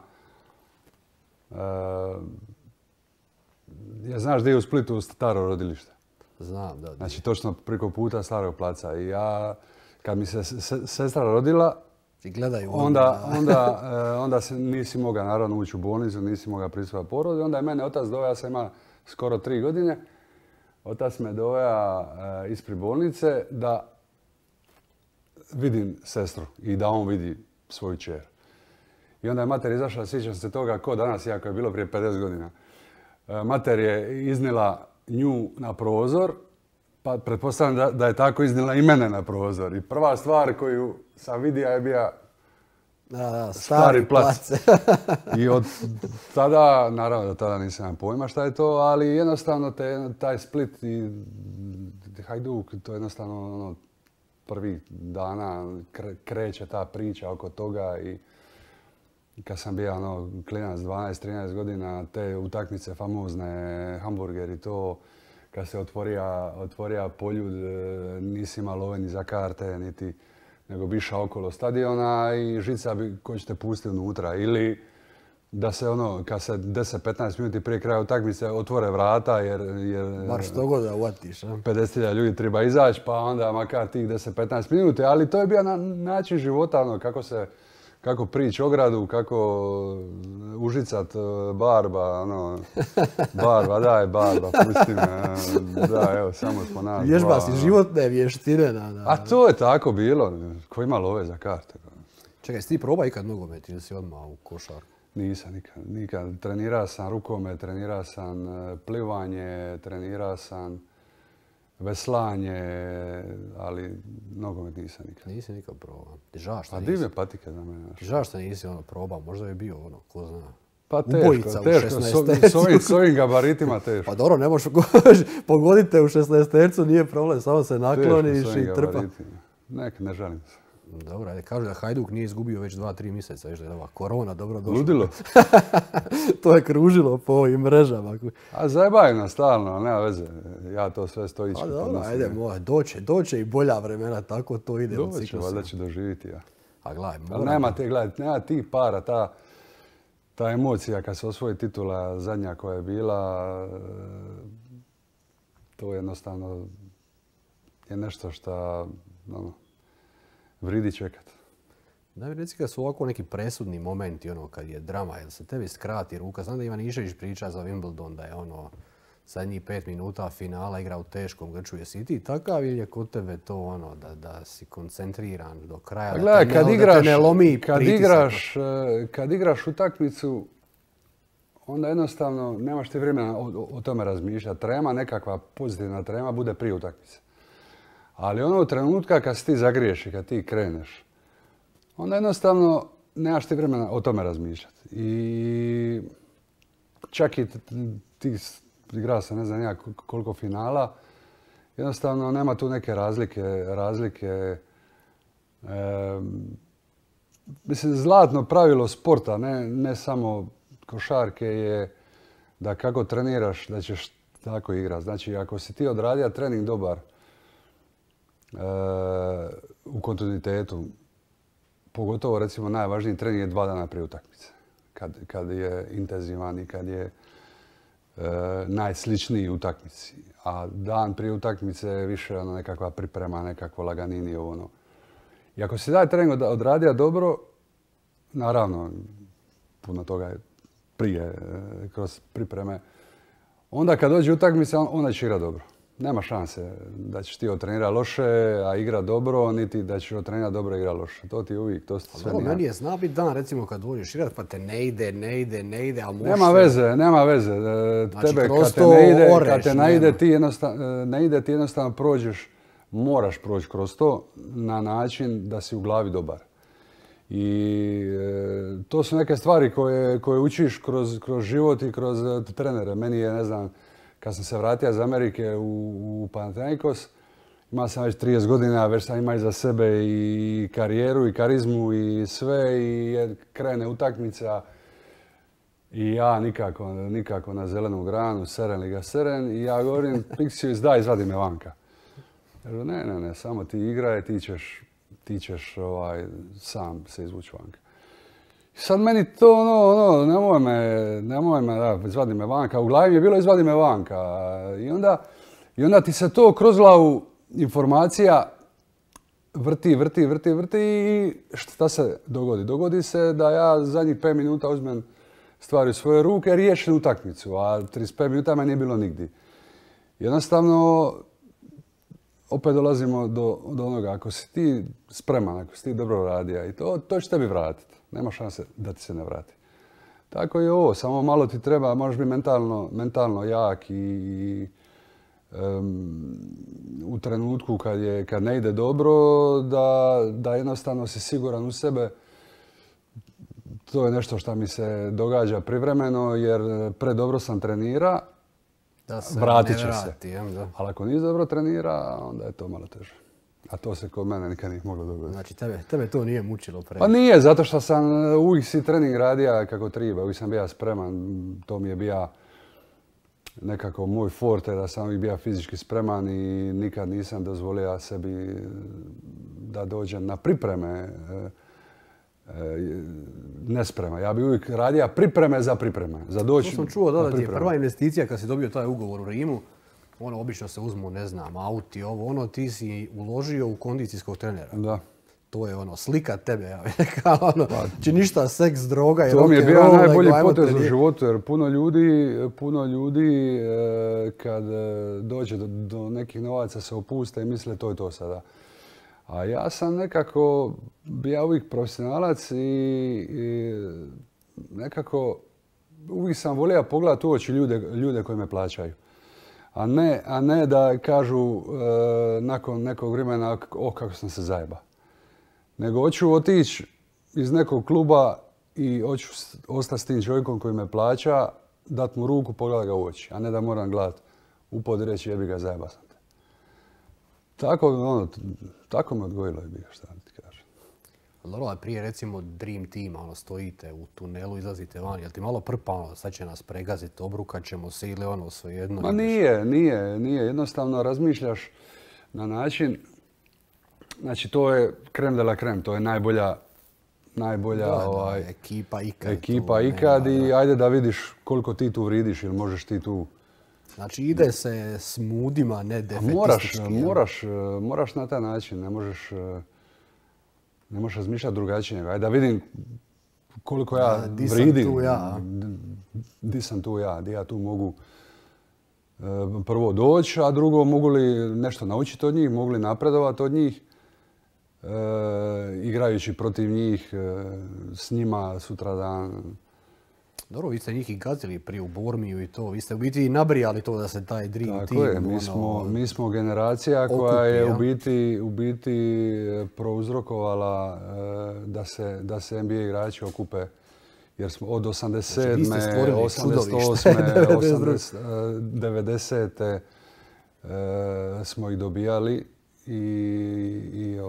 Ja znaš gdje je u Splitu staro rodilište? Znam, da. Znači, točno preko puta Starog placa. I ja, kad mi se sestra rodila, onda nisi mogao naravno ući u bolnicu, nisi mogao prisustvovati porodu. Onda je mene otac doveo, ja sam imao skoro 3 godine. Otac me doveo ispred bolnice da vidim sestru i da on vidi svoju kćer. I onda je mater izašla, sjećam se toga ko danas, iako je bilo prije 50 godina. Mater je iznila nju na prozor, pa pretpostavljam da je tako iznila i mene na prozor. I prva stvar koju sam vidio je bio Stari plac. I od tada, naravno da tada nisam imao pojma šta je to, ali jednostavno taj Split i Hajduk, to je jednostavno ono, prvih dana kreće ta priča oko toga i kad sam bio ono, klinac 12-13 godina, te utakmice famozne, hamburger i to, kad se otvorija poljud, nisi imao love ni za karte, niti nego bi išao okolo stadiona i žica bi ko ćete pustiti unutra. Ili da se ono, kad se 10-15 minuti prije kraja utakmice otvore vrata jer bar što god da uvatiš. 50.000 ljudi treba izaći, pa onda makar tih 10-15 minuta. Ali to je bio način života, ono, kako prići ogradu, kako užicat barba, ono, barba, daj barba, pusti me, da, evo, samo smo nas. Vježba si životne vještine. A to je tako bilo, ko ima love za karte. Čekaj, si ti probao ikad nogomet ili si odmah u košarku? Nisam nikad. Trenirao sam rukomet, trenirao sam plivanje, trenirao sam veslanje, ali nogomet nisam nikad. Nisi nikad probao. Žao što nisi. Pa divne patike za mene. Žao što nisi probao, možda bi bio ono, ko zna. Pa teško, s ovim gabaritima teško. Pa dobro, ne možeš pogoditi u 16-tercu, nije problem, samo se nakloniš i trpa. Ne žalim se. Dobro, ajde, kažu da Hajduk nije izgubio već 2-3 mjeseca, već da je ova korona dobro došla. Ludilo. To je kružilo po ovim mrežama. A zajebaju nas stalno, nema veze. Ja to sve stojički podnosim. Ajde, doće i bolja vremena, tako to ide u ciklusu. Doće, valjda će doživjeti ja. A gledaj, nema tih para, ta emocija kad se osvoji titula zadnja koja je bila, to jednostavno je nešto što vridi čekat. Da mi reci kad su ovako neki presudni momenti, ono kad je drama, jel se tebi skrati ruka? Znam da Ivanišević priča za Wimbledon da je ono zadnjih 5 minuta finala igra u teškom grču. Jesi ti takav ili je kod tebe to ono da si koncentriran do kraja, da te ne lomi pritisak? Kad igraš utakmicu, onda jednostavno nemaš ti vremena o tome razmišljati. Trema, nekakva pozitivna trema bude prije utakmice. Ali ono trenutka kad si ti zagriješ i kad ti kreneš, onda jednostavno nemaš ti vremena o tome razmišljati. I čak i ti igrao sam ne znam ja koliko finala, jednostavno nema tu neke razlike. Mislim, zlatno pravilo sporta, ne samo košarke je da kako treniraš da ćeš tako igrati. Znači, ako si ti odradio trening dobar, u kontinuitetu, pogotovo recimo najvažniji trening je 2 dana prije utakmice. Kad je intenzivan i kad je najsličniji utakmici. A dan prije utakmice je više nekakva priprema, nekakvo laganini, ono. I ako si taj trening odradio dobro, naravno, puno toga je prije, kroz pripreme, onda kad dođe utakmica, onda će igrati dobro. Nema šanse da ćeš ti otrenirati loše, a igra dobro, niti da ćeš otrenirati dobro i igra loše. To ti uvijek, to sve nije. Meni je zna biti dan, recimo, kad dođeš igrati, pa te ne ide, ali možeš... Nema veze. Znači, tebe kroz kad te to ne ide, oreš, kad te ne ide, ti jednostavno prođeš, moraš proći kroz to na način da si u glavi dobar. I to su neke stvari koje učiš kroz život i kroz trenere. Meni je, ne znam, kad sam se vratio iz Amerike u Panathinaikos, imao sam već 30 godina, već sam imao iza sebe i karijeru i karizmu i sve, i krene utakmica i ja nikako na zelenu granu, seren li ga seren, i ja govorim, Pixius, daj, izvadi me vanka. Kažu, ne, samo ti igraj, ti ćeš sam se izvući vanka. I sad meni to, nemoj me, da, izvadi me vanka. U glavi mi je bilo izvadi me vanka. I onda ti se to kroz glavu informacija vrti i šta se dogodi? Dogodi se da ja zadnjih 5 minuta uzmem stvari u svoje ruke, riješim utakmicu, a 35 minuta me nije bilo nigdje. Jednostavno, opet dolazimo do onoga, ako si ti spreman, ako si ti dobro radija, i to će tebi vratiti. Nema šanse da ti se ne vrati. Tako je ovo, samo malo ti treba, moraš biti mentalno jak i u trenutku kad ne ide dobro, da jednostavno si siguran u sebe. To je nešto što mi se događa privremeno, jer predobro sam trenira, vratit će se. Ali ako nisi dobro trenira, onda je to malo teže. A to se kod mene nikad nije moglo dogoditi. Znači, tebe to nije mučilo previše? Pa nije, zato što sam uvijek si trening radio kako treba. Uvijek sam bio spreman. To mi je bio nekako moj forte, da sam uvijek bio fizički spreman i nikad nisam dozvolio sebi da dođem na pripreme nesprema. Ja bi uvijek radio pripreme za pripreme. To sam čuo da ti je prva investicija kad si dobio taj ugovor u Rimu. Obično se uzmu, ne znam, auti, ti si uložio u kondicijskog trenera. Da. To je slika tebe, ja bih rekao, či ništa, seks, droga i rock'n'roll. To mi je bio najbolji potez u životu, jer puno ljudi kad dođe do nekih novaca se opuste i misle to je to sada. A ja sam nekako bio uvijek profesionalac i nekako uvijek sam volio pogledati u oči ljude koji me plaćaju. A ne da kažu nakon nekog vremena kako sam se zajeba. Nego hoću otići iz nekog kluba i hoću ostati s tim čovjekom koji me plaća, dati mu ruku, pogledati ga u oči, a ne da moram gledati u pod i reći jebi ga, zajeba sam te. Tako me odgojilo jebi ga, šta ti kažem. Dobro, prije recimo Dream Teama, stojite u tunelu, izlazite van, jel ti malo prpa, sad će nas pregaziti, obrukat ćemo se ili svejedno? Ma nije. Jednostavno razmišljaš na način, znači to je creme de la creme, to je najbolja ekipa ikad i ajde da vidiš koliko ti tu vridiš ili možeš ti tu... Znači ide se s mudima, ne defetistički. Moraš na taj način, ne možeš razmišljati drugačije. Ajde da vidim koliko ja vridim, di sam tu ja, di ja tu mogu prvo doći, a drugo mogu li nešto naučiti od njih, mogu li napredovati od njih, igrajući protiv njih, s njima sutradan. Dobro, vi ste njih i gazili prije u Bormiju i to. Vi ste u biti i nabrijali to da se taj Dream Team... Tako je, mi smo generacija koja je u biti prouzrokovala da se NBA igrači okupe. Jer smo od 87. 88. 90. Smo ih dobijali i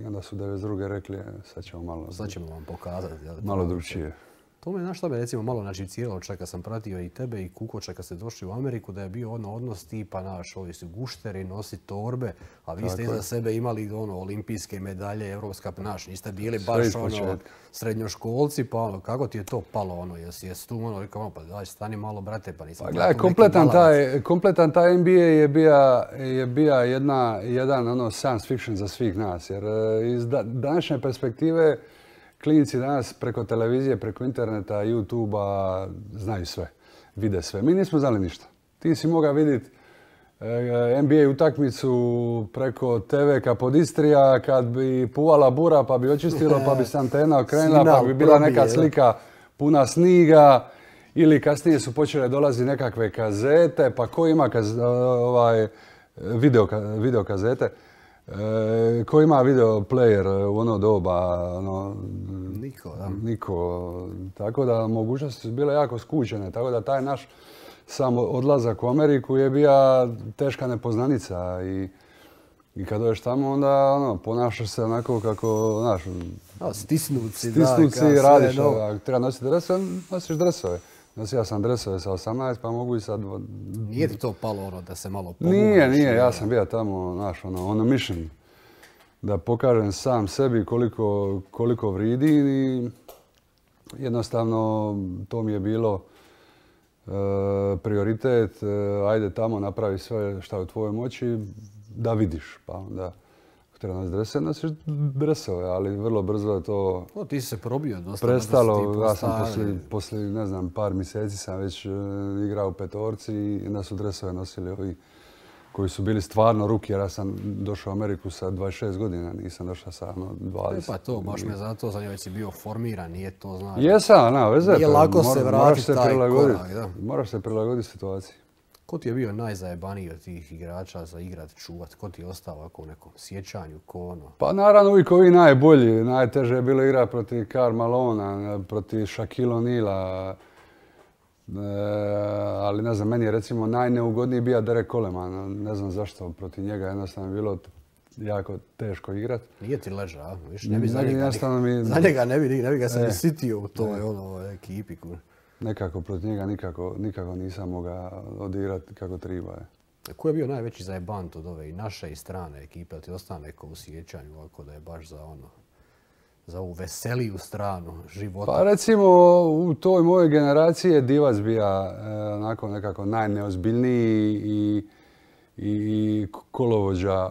onda su 92. rekli sad ćemo vam pokazati. Malo drugčije. To me, znaš šta me recimo malo naživciralo, čak kad sam pratio i tebe i Kukoča kad ste došli u Ameriku, da je bio odnos tipa, naš, ovi su gušteri, nosi torbe, a vi ste iza sebe imali olimpijske medalje, evropska, naš, niste bili baš srednjoškolci, pa kako ti je to palo, jesi tu rekao, pa daj, stani malo, brate, pa nisam... Pa gledaj, kompletan taj NBA je bija jedan science fiction za svih nas, jer iz današnje perspektive klinici danas preko televizije, preko interneta, YouTube-a znaju sve, vide sve. Mi nismo znali ništa. Ti si mogao vidjeti NBA utakmicu preko TV-ka pod Istrija, kad bi puvala bura pa bi očistilo, pa bi se antena okrenula, pa bi bila neka slika puna sniga. Ili kasnije su počele dolaziti nekakve kazete, pa ko ima video kazete? Ko ima video player u ono doba? Niko, da. Niko. Tako da mogućnosti su bile jako skučene. Tako da taj naš sam odlazak u Ameriku je bila teška nepoznanica. I kad dođeš tamo, onda ponašaš se onako kako, znaš... Stisnuci, radiš. Treba nositi dresove, nosiš dresove. Ja sam dresove sa 18, pa mogu i sad... Nije ti to palo da se malo pomoći? Nije. Ja sam bio tamo, znaš, on a mission. Da pokažem sam sebi koliko vridi i jednostavno to mi je bilo prioritet. Ajde tamo, napravi sve što je u tvojoj moći da vidiš. Pa onda, ako treba nositi dresove, nosiš dresove, ali vrlo brzo je to... Ti si se probio dosta. Prestalo, ja sam poslije, ne znam, par mjeseci sam već igrao u petorci i onda su dresove nosili ovi koji su bili stvarno ruki, jer ja sam došao u Ameriku sa 26 godina, nisam došao sa 20. Pa to, baš me zato zanimljivo, si bio formiran, nije to znači. Jesam, nema veze. Nije lako se vratiti taj korak, da. Moraš se prilagoditi situaciji. Ko ti je bio najzajebaniji od tih igrača za igrat, čuvat? Ko ti je ostao ovako u nekom sjećanju, Pa naravno uvijek ovi najbolji. Najteže je bilo igrati protiv Karl Malona, protiv Shaquille O'Neala. Ali ne znam, meni je recimo najneugodniji bio Derek Coleman. Ne znam zašto, protiv njega jednostavno je bilo jako teško igrati. Nije ti leža, viš? Ne bi za njega ne bi ga se ni sitio u toj ekipi. Nekako protiv njega nikako nisam mogao odigrati kako treba. Ko je bio najveći zajebant od ove i naše i strane ekipe? Ti ostane neko u sjećanju ovako da je baš za ovu veseliju stranu života? Pa recimo u toj mojoj generaciji je Divac bio onako nekako najneozbiljniji i kolovođa.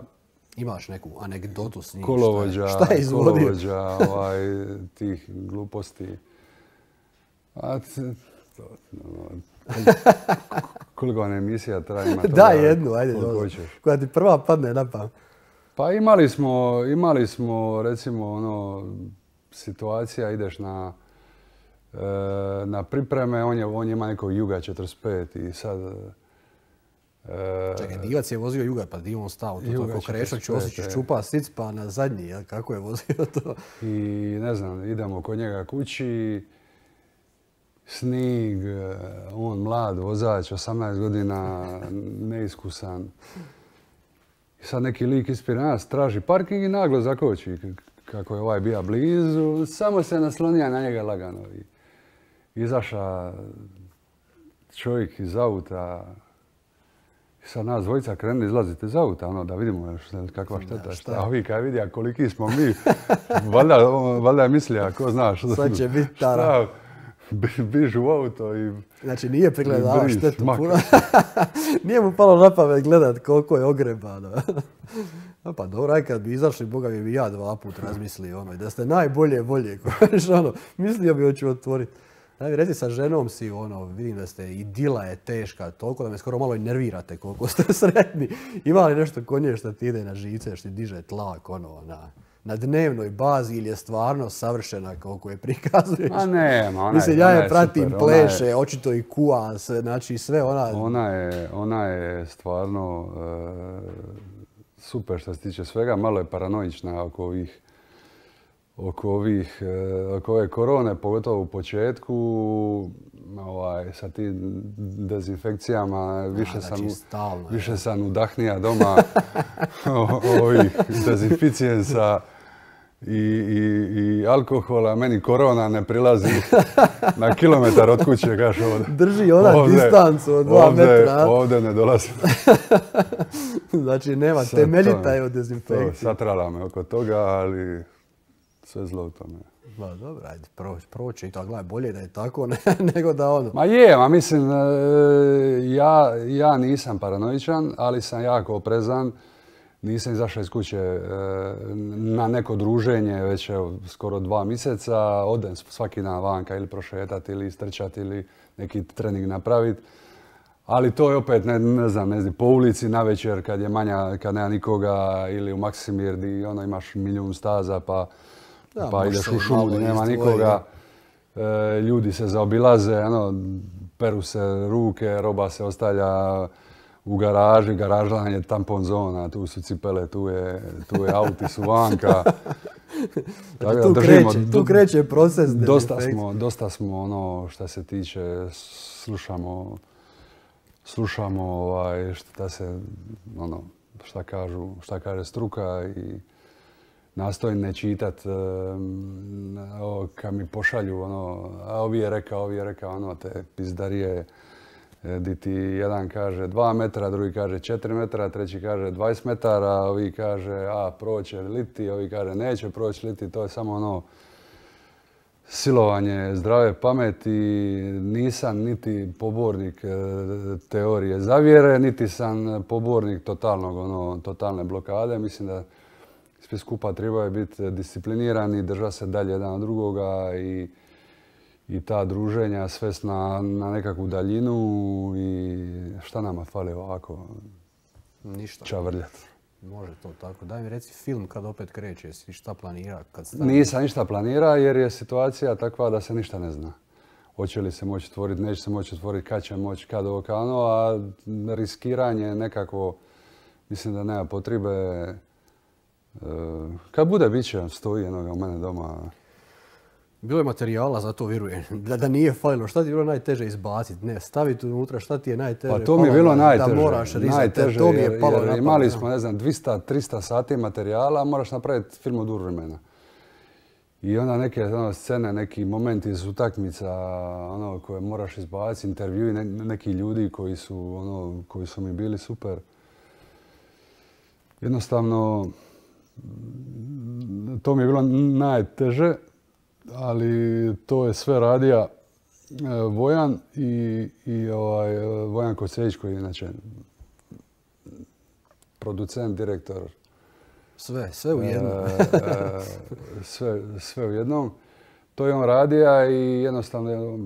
Imaš neku anegdotu s njim? Šta je izvodio? Kolovođa tih gluposti. Koliko vam emisija traje? Daj jednu, ajde. Koja ti prva padne na pamet. Pa imali smo recimo situacija, ideš na pripreme, on ima nekog Juga 45 i sad... Čekaj, Divac je vozio Juga, pa di on stao? Kako Krešo Ćosić čupa sic pa na zadnji, kako je vozio to? I ne znam, idemo kod njega kući, snig, on mlad vozač, 18 godina, neiskusan. I sad neki lik ispred nas traži parking i naglo zakoči. Kako je ovaj bio blizu, samo se naslonija na njega lagano. Izaša čovjek iz auta. I sad nas dvojica krenuli izlaziti iz auta, da vidimo kakva šteta. A ovi kad vidi, koliki smo mi, valjda je mislija, ko znaš. Sad će biti tara. Bižu u auto i... Znači nije pregledao štetu puno. Nije mu palo na pamet gledat koliko je ogrebano. Pa dobro, aj kad bi izašli, boga mi bi ja 2 puta razmislio da ste najbolje volje. Mislio bi hoću otvoriti. Reci sa ženom si, vidim da ste idila je teška toliko da me skoro malo i nervirate koliko ste sretni. Ima li nešto kod nje što ti ide na živce, što ti diže tlak na dnevnoj bazi ili je stvarno savršena koliko je prikazuješ? A nema, mislim, ja je pratim, pleše, očito i kuva se, znači sve Ona je stvarno super što se tiče svega, malo je paranoična oko ove korone, pogotovo u početku, sa tim dezinfekcijama, više sam udahnija doma ovih dezinficijensa i alkohola, meni korona ne prilazi na kilometar od kuće, kaže ovdje. Drži ona distancu od 2 metra. Ovdje ne dolazi. Znači nema temeljita je od dezinfekcije. Satrala me oko toga, ali sve zlo u tome. Ma dobro, ajde, proći i to, gledaj, bolje da je tako nego da ono. Ma mislim, ja nisam paranoičan, ali sam jako oprezan. Nisam izašao iz kuće na neko druženje već skoro 2 mjeseca. Odem svaki dan vanka ili prošetati ili istrčati ili neki trening napraviti. Ali to je opet, ne znam, po ulici navečer kad je manja, kad nema nikoga ili u Maksimir gdje ono, imaš milijun staza pa ideš u šumu gdje nema nikoga. Ljudi se zaobilaze, ono, peru se ruke, roba se ostavlja u garaži, garažlanje, tampon zona, tu su cipele, tu je auti su vanka. Tu kreće proces. Dosta smo ono što se tiče, slušamo šta se, ono, šta kaže struka i nastojim ne čitat kad mi pošalju ono, a ovi je rekao, ono, te pizdarije di ti jedan kaže 2 metra, drugi kaže 4 metra, treći kaže 20 metara, ovi kaže proće liti, ovi kaže neće proći liti, to je samo ono silovanje zdrave pameti. Nisam niti pobornik teorije zavjere, niti sam pobornik totalne blokade. Mislim da svi skupa trebaju biti disciplinirani, držati se dalje jedan od drugoga i ta druženja svest na nekakvu daljinu i šta nama fali ovako ništa. Čavrljat. Može to tako. Daj mi reci film kad opet kreće, jesi šta planira? Nisam ništa planira jer je situacija takva da se ništa ne zna. Hoće li se moći otvoriti, neće se moći otvoriti, kad će moći, kad ovo kano, a riskiranje nekako, mislim da nema potrebe. Kad bude, bit će, stoji jednoga u mene doma. Bilo je materijala, zato vjerujem. Da nije falilo. Šta ti je bilo najteže izbaciti? Ne, staviti unutra šta ti je najteže? Pa to mi je bilo najteže. Da moraš rizati. To mi je palo na pamet. Imali smo, ne znam, 200-300 sati materijala, moraš napraviti film od vremena. I onda neke scene, neki momenti iz utakmica koje moraš izbaciti, intervjui neki ljudi koji su mi bili super. Jednostavno, to mi je bilo najteže, ali to je sve radija Vojan i Vojan Koselić koji je inače producent, direktor. Sve u jednom. Sve u jednom. To je on radija i jednostavno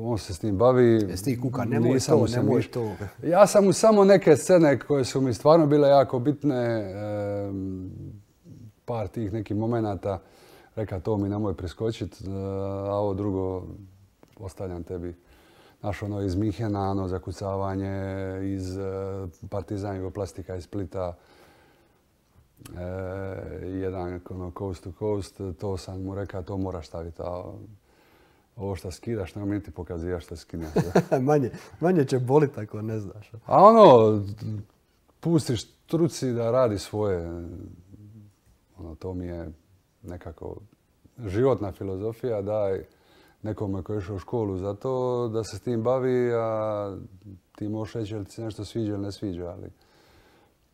on se s tim bavi. Jesi ti kuka, nemoj to. Ja sam mu samo neke scene koje su mi stvarno bile jako bitne, par tih nekih momenata, reka to mi nemoj preskočiti, a ovo drugo ostavljam tebi. Znaš, ono iz Minhena, zakucavanje, iz Partizan Jugoplastika iz Splita, jedan coast to coast, to sam mu rekao, to moraš staviti. Ovo što skidaš, nema mi niti pokazivaš što skineš. manje će boliti ako ne znaš. A pustiš struci da radi svoje. To mi je nekako životna filozofija, daj nekome koji je išao u školu za to da se s tim bavi, a ti možeš reći jel ti se nešto sviđa ili ne sviđa, ali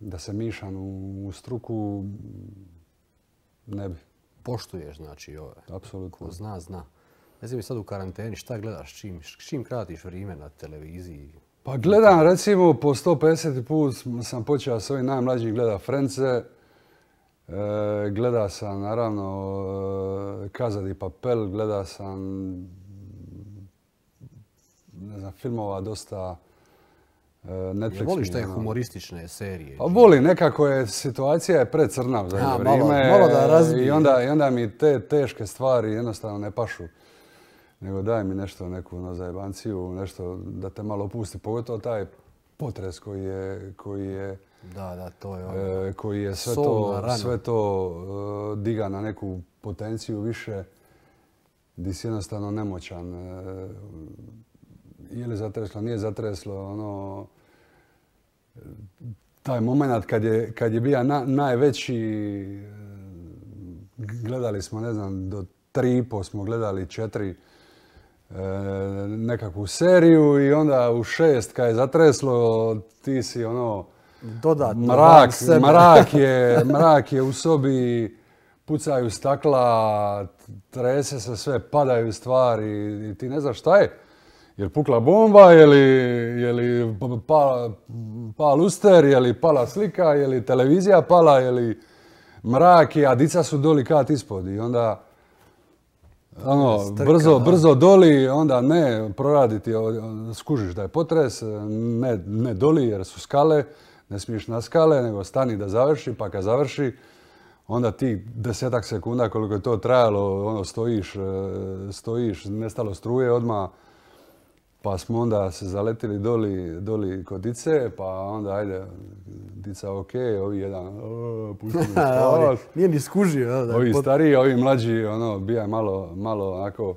da se mišam u struku ne bi. Poštuješ, znači, ove. Apsolutno. Ko zna, zna. Ne znam mi sad u karanteni, šta gledaš, čim kratiš vrijeme na televiziji? Pa gledam, recimo, po 150 put sam počeo s ovim najmlađim gleda Frence. Gleda sam, naravno, Casa di Papel, gleda sam, ne znam, filmova dosta Netflix. Voliš te humoristične serije? Pa volim, nekako je, situacija je precrna u zadnje vrijeme. Malo da razbije. I onda mi te teške stvari jednostavno ne pašu. Nego daj mi nešto, neku zajebanciju, nešto da te malo opusti. Pogotovo taj potres koji je to je koji je sve to diga na neku potenciju više, gdje si jednostavno nemoćan. Je li zatreslo, nije zatreslo, taj moment kad je bio najveći gledali smo, ne znam, do 3,5 smo gledali 4 nekakvu seriju i onda u 6 kad je zatreslo, ti si ono... Dodatno. Mrak je u sobi, pucaju stakla, trese se sve, padaju stvari i ti ne znaš šta je. Je li pukla bomba, je li pala luster, je li pala slika, je li televizija pala, je li mrak, a dica su doli kat ispod i onda brzo doli, onda ne proraditi, skužiš da je potres, ne doli jer su skale, ne smiješ na skale, nego stani da završi, pa kad završi, onda ti 10 sekunda koliko je to trajalo, stojiš, nestalo struje odmah, pa smo onda se zaletili doli kod dice, pa onda ajde, dica ok, ovi jedan, pusti mi spavat. Nije ni skužio. Ovi stariji, ovi mlađi, bija malo onako,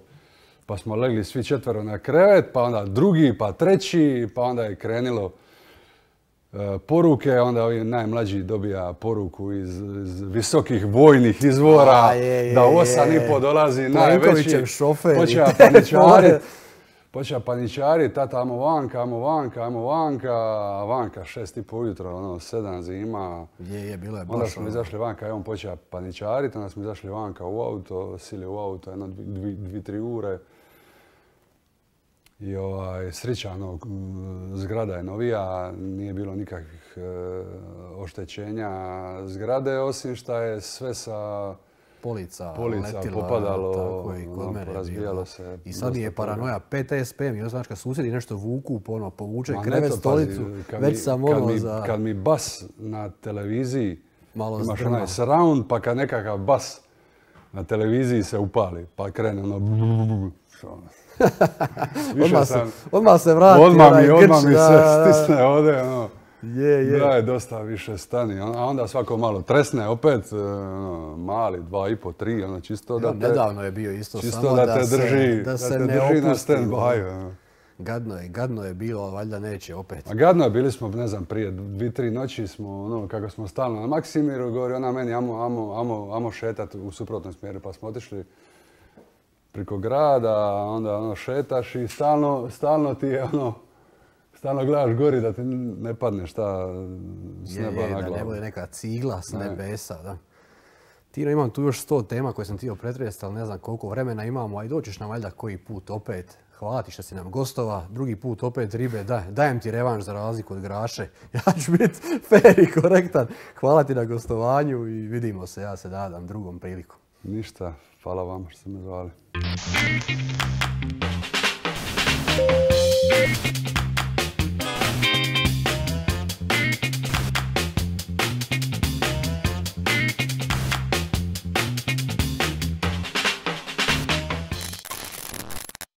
pa smo legli svi 4 na krevet, pa onda drugi, pa treći, pa onda je krenilo poruke, onda ovi najmlađi dobija poruku iz visokih vojnih izvora, da u 8:30 dolazi najveći, počeo paničari, tata, amo vanka, a vanka 6:30 ujutro, 7 zima. Bilo je baš. Onda smo izašli vanka i on počeo paničariti, onda smo izašli vanka u auto, sili u auto, 2-3 ure. I srećano, zgrada je novija, nije bilo nikakvih oštećenja zgrade, osim što je sve sa polica popadalo, razbijalo se. I sad je paranoja, PTSP, mi znaš kad susjedi nešto vuku, povuče krevet, stolicu, već sam za... Kad mi bas na televiziji, imaš onaj surround, pa kad nekakav bas na televiziji se upali, pa krene Odmah se vrati. Odmah mi se stisne ovdje, da je dosta više stani. A onda svako malo tresne opet, mali, 2,5, 3, čisto da te... Nedavno je bio isto, samo da se ne opusti. Gadno je bilo, valjda neće opet. A gadno je, bili smo, ne znam, prije 2-3 noći smo, kako smo stalno na Maksimiru, govori ona meni, amo šetat u suprotnom smjeru, pa smo otišli preko grada, onda šetaš i stalno ti je stalno gledaš gori da ti ne padne šta s neba na glavu. Da ne bude neka cigla s nebesa, da. Tino, imam tu još 100 tema koje sam htio pretresti, ali ne znam koliko vremena imamo, a i doćeš nam valjda koji put opet. Hvala ti što si nam gostova, drugi put opet ribe, dajem ti revanš za razliku od Graše. Ja ću biti fair i korektan. Hvala ti na gostovanju i vidimo se, ja se nadam drugom prilikom. Ništa, hvala vama što ste me zvali.